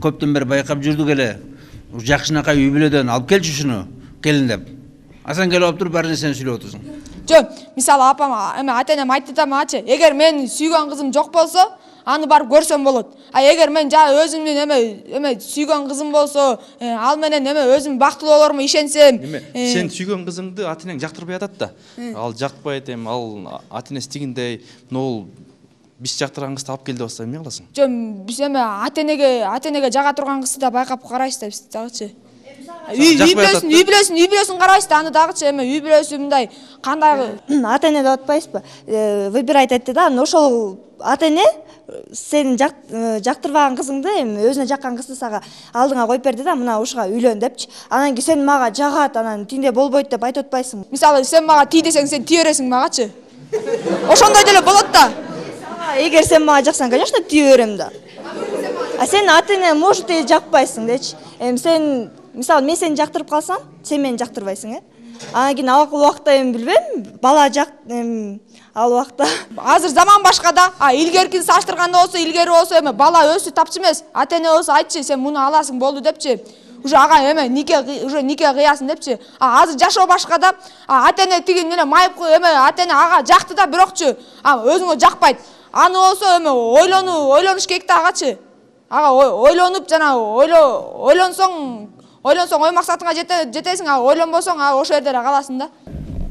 көптөн бери байкап жүрдүк эле. Жакшынакай үй бүлөдөн алып келчи ушуну келин деп. Асан келип алып туруп баары нерсени сүйлөп отурсуң. Жок, мисалы апам эме ата энем айтты да мачы, эгер мен сүйгөн кызым жок болсо, аны барып көрсөм болот. А эгер мен жана өзүмдүн эме эме сүйгөн кызым болсо, ал менен эме өзүм бактылуу болорума ишенсем, сен сүйгөн кызыңды ата энең жактырбай атат да. Ал жакпайт эми, ал ата энеси тигиндей, могул биз жактырган кызды алып кел деп атса эмне кыласың? Жок, биз эме ата энеге ата энеге жага турган кызды да байкап карайбыз да биз дагычы. Үй бүлөсүн, үй бүлөсүн, үй бүлөсүн карайбыз да, аны дагычы эме үй бүлөсү мындай кандай ата эне деп атпайсызбы? Выбирать айтты да, ошол ата эне сен жактырбаган кызыңды эми өзүнө жаккан кызды сага алдыңа коюп берди да, мына ушуга үйлөн депчи. Анан кийин сен мага жагат, анан тинде болбойт деп айтып атпайсың. Мисалы сен мага тий десең, сен тие бересиң магачы. Ошондой деле болот да. Эгер сен мага жаксаң, конечно, тие берем да. А сен ата эне может и жакпайсың дечи. Эми сен мисалы мен сени жактырып калсам, сен мени жактырбайсың, э? Анан кийин ал убакта эми билбейм, бала жак эми ал убакта азыр заман башка да. А илгеркини салыштырганда болсо, илгери болсо эме бала өсүп тапчу эмес. Ата эне болсо айтчы, сен муну аласың болду депчи. Уже ага эме нике уже нике кыясың депчи. А азыр жашоо башка да. А ата эне тиги эле майып эме ата эне ага жакты да, бирокчу а өзүңө жакпайт. Аны болсо эме ойлонуу, ойлонуш керек да агачы. Ага ойлонуп жана ойло ойлонсоң, ойлонсоң ой максатыңа жетесиң, а ойлонбосоң а ошол жерде эле каласың да.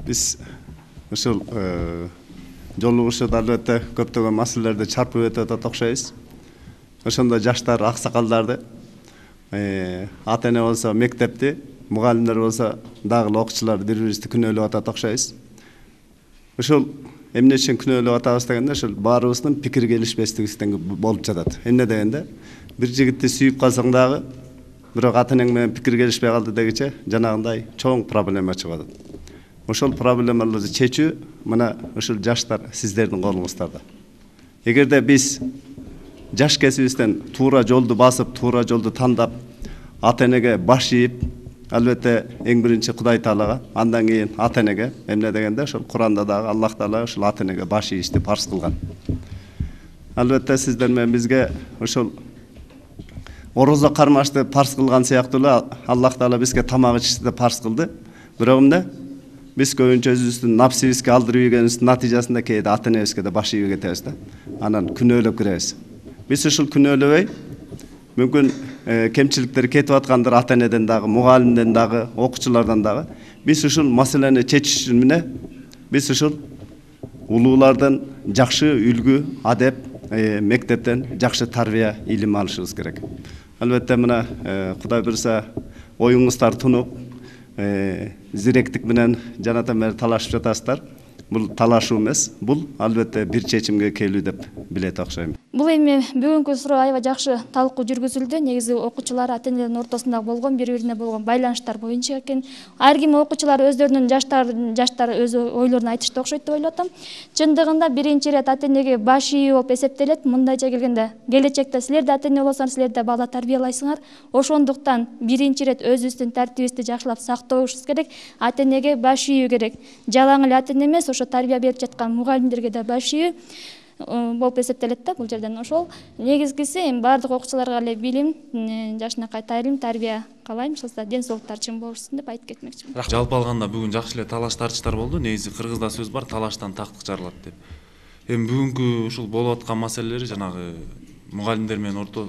Биз ушул жолугушууда албетте көптөгөн маселелерди чарпып өтүп атат окшойбуз. Ошондо жаштар, аксакалдарды, ата эне болсо мектепти, мугалимдер болсо дагы окуучулар бири-бирибизди күнөөлөп атат окшойбуз. Ушул эмне үчүн күнөөлөп атабыз дегенде, ушул баарыбыздын пикир келишпестигибизден болуп жатат. Эмне дегенде, бир жигитти сүйүп калсаң дагы, бирок ата энең менен пикир келишпей калды дегиче, жанагындай чоң проблема чыгып атат. Ошол проблемаларды чечүү мына ушул жаштар сиздердин колуңуздарда. Эгерде биз жаш кезибизден туура жолду басып, туура жолду тандап, ата энеге баш ийип, албетте эң биринчи Кудай Таалага, андан кийин ата энеге, эмне дегенде ошол Куранда дагы Аллах Таала ошол ата энеге баш ийишти парз кылган. Албетте сиздер менен бизге ошол орозо кармашты парз кылган сыяктуу эле Аллах Таала бизге тамак ичишти да парз кылды. Бирок эмне? Биз көбүнчө өзүбүздүн напсибизге алдырып ийгенибиздин натыйжасында кээде ата энебизге да баш ийип кетебиз да. Анан күнөөлөп киребиз. Биз ушул күнөөлөбөй, мүмкүн кемчиликтер кетип аткандыр ата энеден дагы, мугалимден дагы, окуучулардан дагы. Биз ушул маселени чечиш үчүн эмне? Биз ушул улуулардан жакшы үлгү, адеп, мектептен жакшы тарбия, илим алышыбыз керек. Албетте мына Кудай буйрса оюңуздар тунуп, зиректик менен жанатан бери талашып жатасыздар. Бул талашуу эмес, бул албетте бир чечимге келүү деп билет окшойм. Бул эми бүгүнкү суроо аябай жакшы талкуу жүргүзүлдү. Негизи окуучулар ата энелердин ортосунда болгон бири-бирине болгон байланыштар боюнча экен. Ар ким окуучулар өздөрүнүн жаштар жаштар өз ойлорун айтышты окшойт деп ойлоп атам. Чындыгында биринчи ирет ата энеге баш ийүү болуп эсептелет. Мындайча келгенде келечекте силер да ата эне болсоңор, силер да бала тарбиялайсыңар. Ошондуктан биринчи ирет өзүбүздүн тартибибизди жакшылап сактообуз керек. Ата энеге баш ийүү керек. Жалаң эле ата эне эмес, ошо тарбия берип жаткан мугалимдерге да баш ийүү болуп эсептелет да бул жерден. Ошол негизгиси эми баардык окуучуларга эле билим, жашынакай тайылым, тарбия каалайм. Ошол ден соолуктар чың болушсун деп айтып кетмекчимин. Жалпы алганда бүгүн жакшы эле талаш тартыштар болду. Негизи кыргызда сөз бар, талаштан тактык жарылат деп. Эми бүгүнкү ушул болуп аткан маселелер жанагы мугалимдер менен орто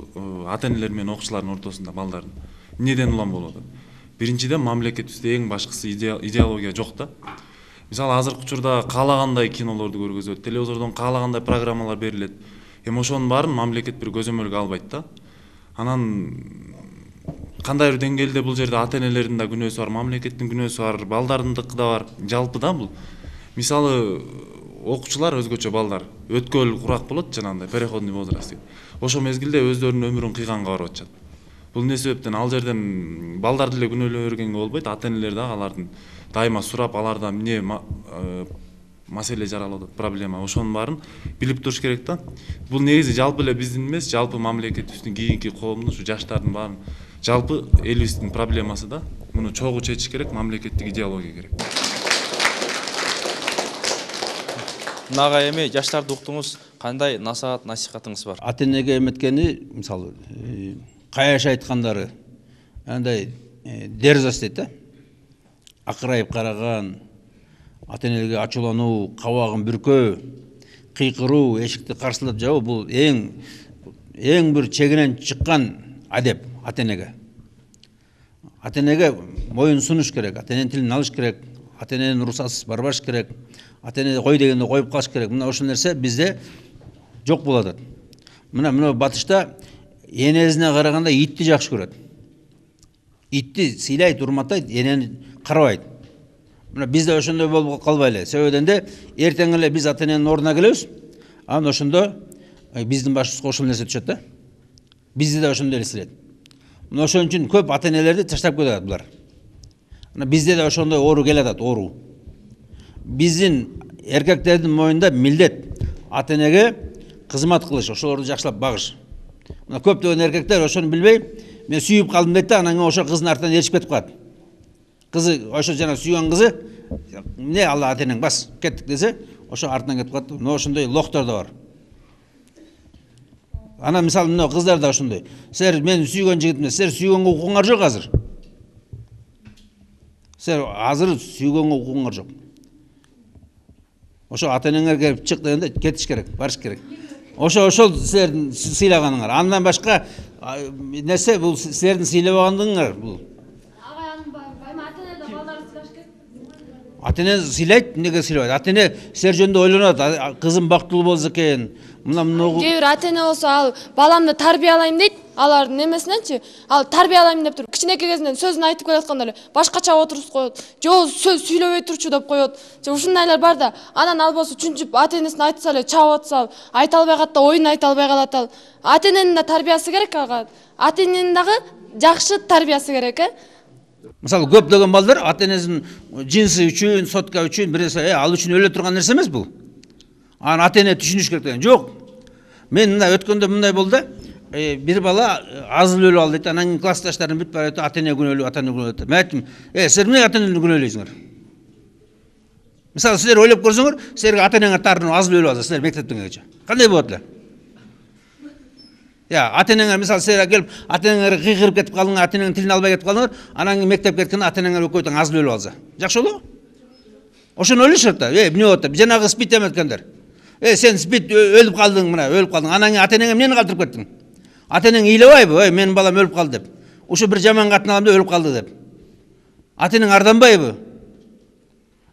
ата энелер менен окуучулардын ортосунда балдардын эмнеден улам болуп атат? Биринчиден мамлекетибизде эң башкысы идеология жок да. Мисалы азыркы учурда каалагандай кинолорду көргөзөт, телевизордон каалагандай программалар берилет. Эми ошонун баарын мамлекет бир көзөмөлгө албайт да. Анан кандай бир деңгээлде бул жерде ата энелердин да күнөөсү бар, мамлекеттин күнөөсү бар, балдардындыкы да бар. Жалпы да бул. Мисалы окуучулар өзгөчө балдар өткөл курак болот, жанагындай переходный возраст. Ошол мезгилде өздөрүнүн өмүрүн кыйганга барып атышат. Бул эмне себептен ал жерден балдарды эле күнөөлөп бергенге болбойт, ата энелер да алардын дайыма сурап, аларда эмне маселе жаралып атат, проблема, ошонун баарын билип туруш керек да. Бул негизи жалпы эле биздин эмес, жалпы мамлекетибиздин, кийинки коомдун, ушу жаштардын баарын, жалпы элибиздин проблемасы да. Муну чогуу чечиш керек, мамлекеттик идеология керек. Нага эми жаштарды уктуңуз, кандай насаат, насихатыңыз бар? Ата энеге эметкени, мисалы, каяш айткандары, андай дерзость дейт да. Акырайып караган, ата энелерге ачуулануу, кабагын бүркөө, кыйкыруу, эшикти карсылап жабуу, бул эң эң бир чегинен чыккан адеп ата энеге. Ата энеге моюн сунуш керек, ата эненин тилин алыш керек, ата эненин уруксатысыз барбаш керек, ата эне кой дегенде коюп калыш керек. Мына ошол нерсе бизде жок болуп атат. Мына мына батышта энесине караганда итти жакшы көрөт. Итти сыйлайт, урматтайт, энени карабайт. Мына бизде ошондой болуп калбайлы. Себебинен де эртең эле биз ата эненин ордуна келебиз. Анан ошондо биздин башыбызга ошол нерсе түшөт да. Бизди да ошондой эле сыйлайт. Мына ошон үчүн көп ата энелерди таштап кетет булар. Мына бизде да ошондой оору келатат, оору. Биздин эркектердин моюнда милдет ата энеге кызмат кылыш, ошолорду жакшылап багыш. Мына көптөгөн эркектер ошону билбей, мен сүйүп калдым дейт да, анан ошо кыздын артынан ээрчип кетип калат. Кызы ошо жана сүйгөн кызы, эмне алла ата энең бас, кеттик десе, ошо артынан кетип калат. Мына ошондой лохтор да бар. Анан мисалы мына кыздар да ошондой. Силер мен сүйгөн жигитмин, силер сүйгөнгө укугуңар жок азыр. Силер азыр сүйгөнгө укугуңар жок. Ошо ата энеңер келип чык дегенде кетиш керек, барыш керек. Ошо ошол силердин сыйлаганыңар. Андан башка нерсе бул силердин сыйлабагандыгыңар бул. Ага, анын байма ата эне да балдарды сыйлаш керек. Ата эне сыйлайт, эмнеге сыйлабайт? Ата эне силер жөнүндө ойлонот, кызым бактылуу болсо экен. Мына мына кээ бир ата эне болсо ал баламды тарбиялайм дейт, алардын эмесиненчи, ал тарбиялайм деп туруп кичинекей кезинен сөзүн айтып келатканда эле башкача отуруп коет. Жо сөз сүйлөбөй турчу деп коет. Же ушундайлар бар да. Анан ал болсо чүнчүп ата энесин айтса эле чабып атса, айта албай калат да, оюн айта албай калат ал. Ата эненин да тарбиясы керек ага. Ата эненин дагы жакшы тарбиясы керек, э? Мисалы көптөгөн балдар ата энесинин жинсы үчүн, сотка үчүн бир нерсе, э, ал үчүн өлө турган нерсе эмес бул. Аны ата эне түшүнүш керек деген. Жок. Мен мына өткөндө мындай болду да. Бир бала азыл өлүп алды дейт. Анан классташтарын бүт барып ата эне күнөөлүү, ата эне күнөөлүү. Мен айттым, "Э, силер эмне ата энени күнөөлөйсүңөр?" Мисалы силер ойлоп көрсөңөр, силерге ата энеңер тарынып азыл өлүп алса, силер мектептенгече. Кандай болот эле? Я, ата энеңер мисалы силер келип, ата энеңер кыйкырып кетип калдыңар, ата энеңин тилин албай кетип калдыңар, анан мектепке кеткенде ата энеңер экөөтөн азыл өлүп алса. Жакшы болобу? Ошону ойлошот да. Э, эмне болот деп? Жанагы спит эметкендер. Э, сен спит өлүп калдың, мына өлүп калдың. Анан ата энеңе эмнени калтырып кеттиң? Ата энең ыйлабайбы? Ой, менин балам өлүп калды деп. Ушу бир жаман катын алам деп өлүп калды деп. Ата энең арданбайбы?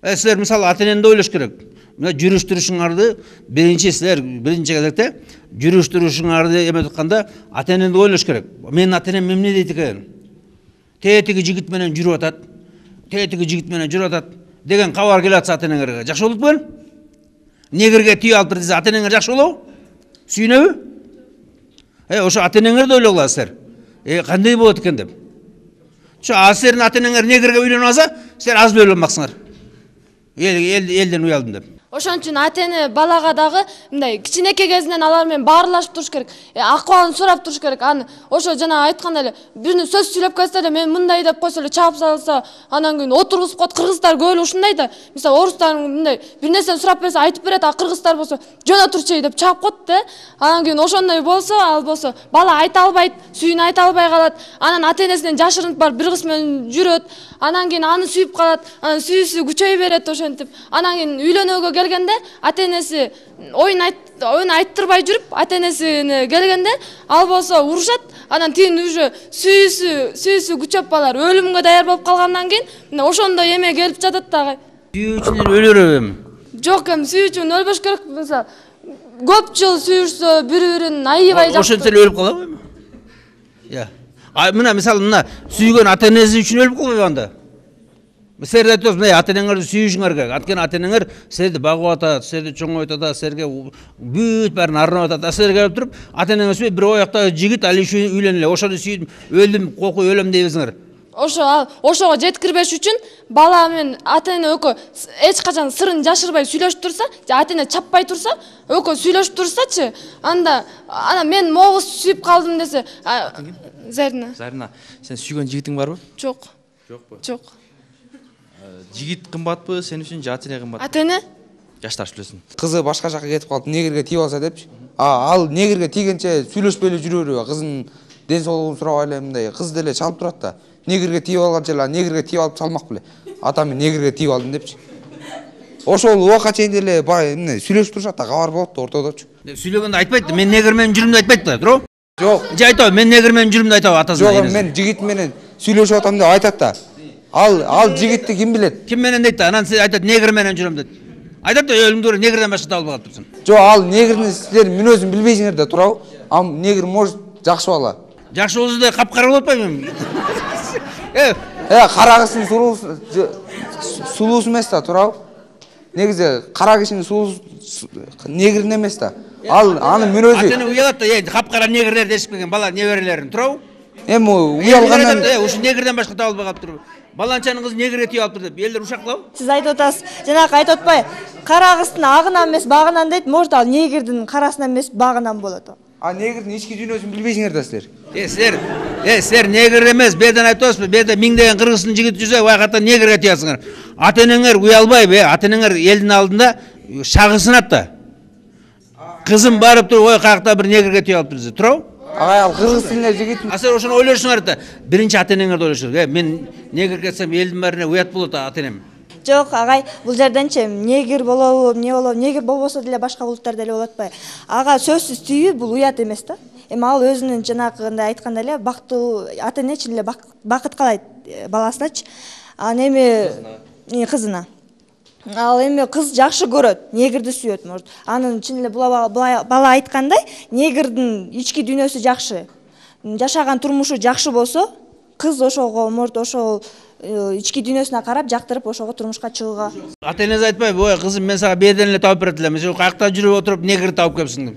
Э силер мисалы ата энеңди ойлош керек. Мына жүрүш-турушуңарды биринчи силер биринчи кезекте жүрүш-турушуңарды эметип атканда ата энеңди ойлош керек. Менин ата энем эмне дейт экен? Тетиги жигит менен жүрүп атат. Тетиги жигит менен жүрүп атат деген кабар келип атса ата энеңерге жакшы болот белем? Негирге тийип алыптыр десе ата энеңер жакшы болобу? Сүйүнөбү? Э ошо ата энеңерди ойлогула-силер. Э кандай болот экен деп. Ошо силердин ата энеңер негирге үйлөнүп алса, силер аз эле ойлонмаксыңар. Эл элден уялдым деп. Ошон үчүн ата эне балага дагы мындай кичинекей кезинен алар менен баарлашып туруш керек. Акыбалын сурап туруш керек. Аны ошо жана айткандай эле бирини сөз сүйлөп кетсе эле мен мындай деп койсо эле чаап салса, анан кийин отургузуп коет. Кыргыздар көп эле ушундай да. Мисалы орустар мындай бир нерсени сурап берсе айтып берет, а кыргыздар болсо жона турчу деп чаап коет да. Анан кийин ошондой болсо, ал болсо бала айта албайт, сүйүүнү айта албай калат. Анан ата энесинен жашырынып барып бир кыз менен жүрөт. Анан кийин аны сүйүп калат. Анан сүйүүсү күчөй берет ошентип. Анан кийин үйлөнүүгө келгенде ата энеси оюн айт оюн айттырбай жүрүп, ата энесине келгенде ал болсо урушат. Анан тигин уже сүйүүсү сүйүүсү күчөп балар өлүмгө даяр болуп калгандан кийин мына ошондой эме келип жатат дагы. Сүйүү үчүн өлөр эми. Жок, эми сүйүү үчүн өлбөш керек. Мисалы көп жыл сүйүшсө бири-бирин аябай жакшы. Ошентсе эле өлүп калабы эми? Я. А мына мисалы мына сүйгөн ата энеси үчүн өлүп калбайбы анда? Силер айтып атасыз, ата энеңерди сүйүшүңөр керек. Анткени ата энеңер силерди багып атат, силерди чоңойтуп атат, силерге бүт баарын арнап атат. Силер келип туруп, ата энеңер сүйүп, бир ояктагы жигит ал иши үйлөн эле, ошону сүйүп, өлдүм, кокуй өлөм дейбизиңер. Ошо ал ошого жеткирбеш үчүн бала менен ата эне экөө эч качан сырын жашырбай сүйлөшүп турса, же ата эне чаппай турса, экөө сүйлөшүп турсачы, анда ана мен могу сүйүп калдым десе, Зарина. Зарина, сен сүйгөн жигитиң барбы? Жок. Жокпу? Жок. Жигит кымбатпы, сен үчүн же ата эне кымбат? Ата эне? Жаштар сүйлөсүн. Кызы башка жака кетип калып, негирге тийип алса депчи. А ал негирге тийгенче сүйлөшпөй эле жүрө берүү, кыздын ден соолугун сурабай эле мындай кыз деле чалып турат да. Негирге тийип алганча эле негирге тийип алып салмак беле. Атам мен негирге тийип алдым депчи. Ошол убакка чейин деле эмне сүйлөшүп турушат да, кабар болот да ортодочу. Сүйлөгөндө айтпайт да, мен негир менен жүрүм деп айтпайт да, туурабы? Жок. Же айтабы, мен негир менен жүрүм деп айтабы атасына? Жок, мен жигит менен сүйлөшүп атам деп айтат да. Ал ал жигитти ким билет? Ким менен дейт да? Анан сен айтат негир менен жүрөм дейт. Айтат да, өлүңдөр негирден башка табылбай калыптырсың. Жок, ал негирдин силер мүнөзүн билбейсиңер да, туурабы? А негир может жакшы бала. Жакшы болсо да капкара болуп атпайбы? Э, э, кара кыздын сулуусу сулуусу эмес да, туурабы? Негизи кара кишинин сулуусу негирдин эмес да. Ал анын мүнөзү. Ата эне уялат да, капкара негирлерди эшикпеген бала неберелерин, туурабы? Эми уялгандан ушу негирден башка табылбай калыптыр. Баланчанын кызы негирге тийип алыптыр деп элдер ушаклабы? Сиз айтып атасыз, жанагы айтып атпай, кара кыздын агынан эмес багынан дейт, может ал негирдин карасынан эмес багынан болот. А негирдин ички дүйнөсүн билбейсиңер да силер. Э, силер, э, силер негир эмес, берден айтып атасызбы? Берде миңдеген кыргыздын жигити жүрсө, вайкатта негирге тийасыңар. Ата энеңер уялбайбы, ата энеңер элдин алдында шагысынат да. Кызым барып туруп, ой, каякта бир негирге тийип алыптыр десе, туурабы? Агай ал кыргыз тилинде жигитин. А силер ошону ойлошуңар да. Биринчи ата энеңерди ойлошуңар. Э, мен негир кетсем элдин баарына уят болот ата энем. Жок, агай, бул жерденчи негир болобу, эмне болобу, негир болбосо деле башка улуттар деле болот атпайбы? Ага сөзсүз тийүү бул уят эмес да. Эми ал өзүнүн жанагындай айткандай эле бактылуу ата эне чын эле бакыт каалайт баласыначы. Анан эми кызына. Ал эми кыз жакшы көрөт, негирди сүйөт, может. Анын чын эле бала айткандай, негирдин ички дүйнөсү жакшы. Жашаган турмушу жакшы болсо, кыз ошого, может, ошол ички дүйнөсүнө карап жактырып ошого турмушка чыгууга. Ата энеси айтпайбы, ой, кызым, мен сага берден эле тауып берет элем, сен каякта жүрүп отуруп негир тауып келипсиң деп.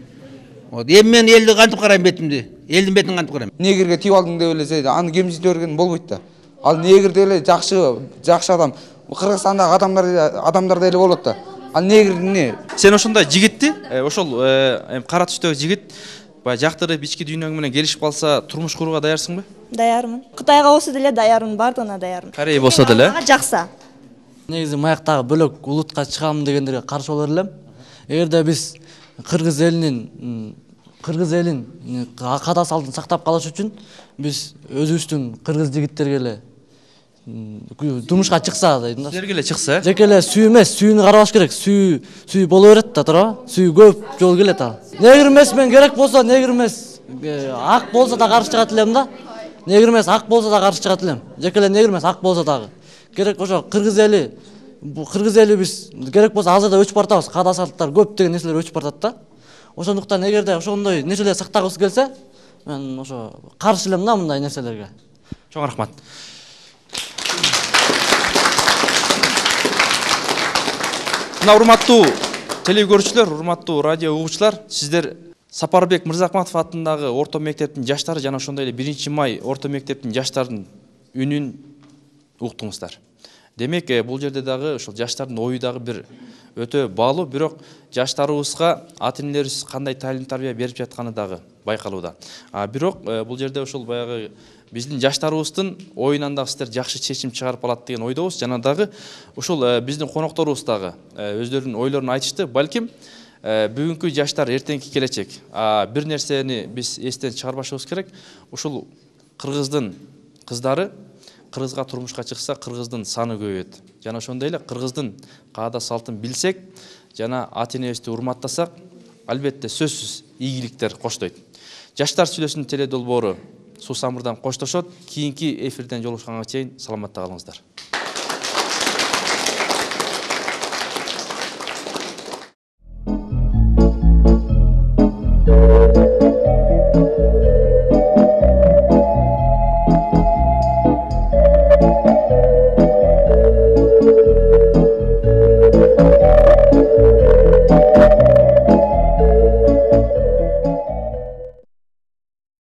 Вот, эми мен элди кантип карайм бетимди? Элдин бетин кантип карайм? Негирге тийип алдың деп эле аны кемсинте берген болбойт да. Ал негир деле жакшы, жакшы адам. Кыргызстандагы адамдар адамдар деле болот да. Ал негир эмне? Сен ошондой жигитти, ошол эми кара түстөгү жигит баягы жактырып ички дүйнөң менен келишип калса, турмуш курууга даярсыңбы? Даярмын. Кытайга болсо деле даярмын, бардыгына даярмын. Корей болсо деле? Жакса. Негизи маяктагы бөлөк улутка чыгам дегендерге каршы болор элем. Эгерде биз кыргыз элинин кыргыз элин када салтын сактап калыш үчүн биз өзүбүздүн кыргыз жигиттерге эле турмушка чыкса дейм да. Силерге эле чыкса? Жеке эле сүйүү эмес, сүйүүнү карабаш керек. Сүйүү, сүйүү боло берет да, туурабы? Сүйүү көп жол келет ал. Негир эмес, мен керек болсо негир эмес, ак болсо да каршы чыгат элем да. Негир эмес, ак болсо да каршы чыгат элем. Жеке эле негир эмес, ак болсо дагы. Керек ошо кыргыз эли бул кыргыз эли биз керек болсо азыр да өчүп баратабыз, каадасаттар көп деген нерселер өчүп баратат да. Ошондуктан эгерде ошондой нерселер сактагыбыз келсе, мен ошо каршы элем да мындай нерселерге. Чоң рахмат. Мына урматтуу телевизор, урматтуу радио угуучулар, сиздер Сапарбек Мырзахматов атындагы орто мектептин жаштары жана ошондой эле биринчи май орто мектептин жаштарынын үнүн уктуңуздар. Демек, бул жерде дагы ошол жаштардын ою дагы бир өтө баалуу, бирок жаштарыбызга ата-энелерибиз кандай талим тарбия берип жатканы дагы байкалууда. А бирок бул жерде ошол баягы биздин жаштарыбыздын оюнан дагы сиздер жакшы чечим чыгарып алат деген ойдобуз. Жана дагы ошол биздин конокторубуз дагы өздөрүнүн ойлорун айтышты. Балким бүгүнкү жаштар эртеңки келечек. А бир нерсени биз эстен чыгарбашыбыз керек. Ушул кыргыздын кыздары кыргызга турмушка чыкса, кыргыздын саны көбөйөт. Жана ошондой эле кыргыздын каада салтын билсек, жана ата-энебизди урматтасак, албетте сөзсүз ийгиликтер коштойт. Жаштар сүйлөсүнүн теле долбоору Суусамырдан коштошот. Кийинки эфирден жолугушканга чейин саламатта калыңыздар.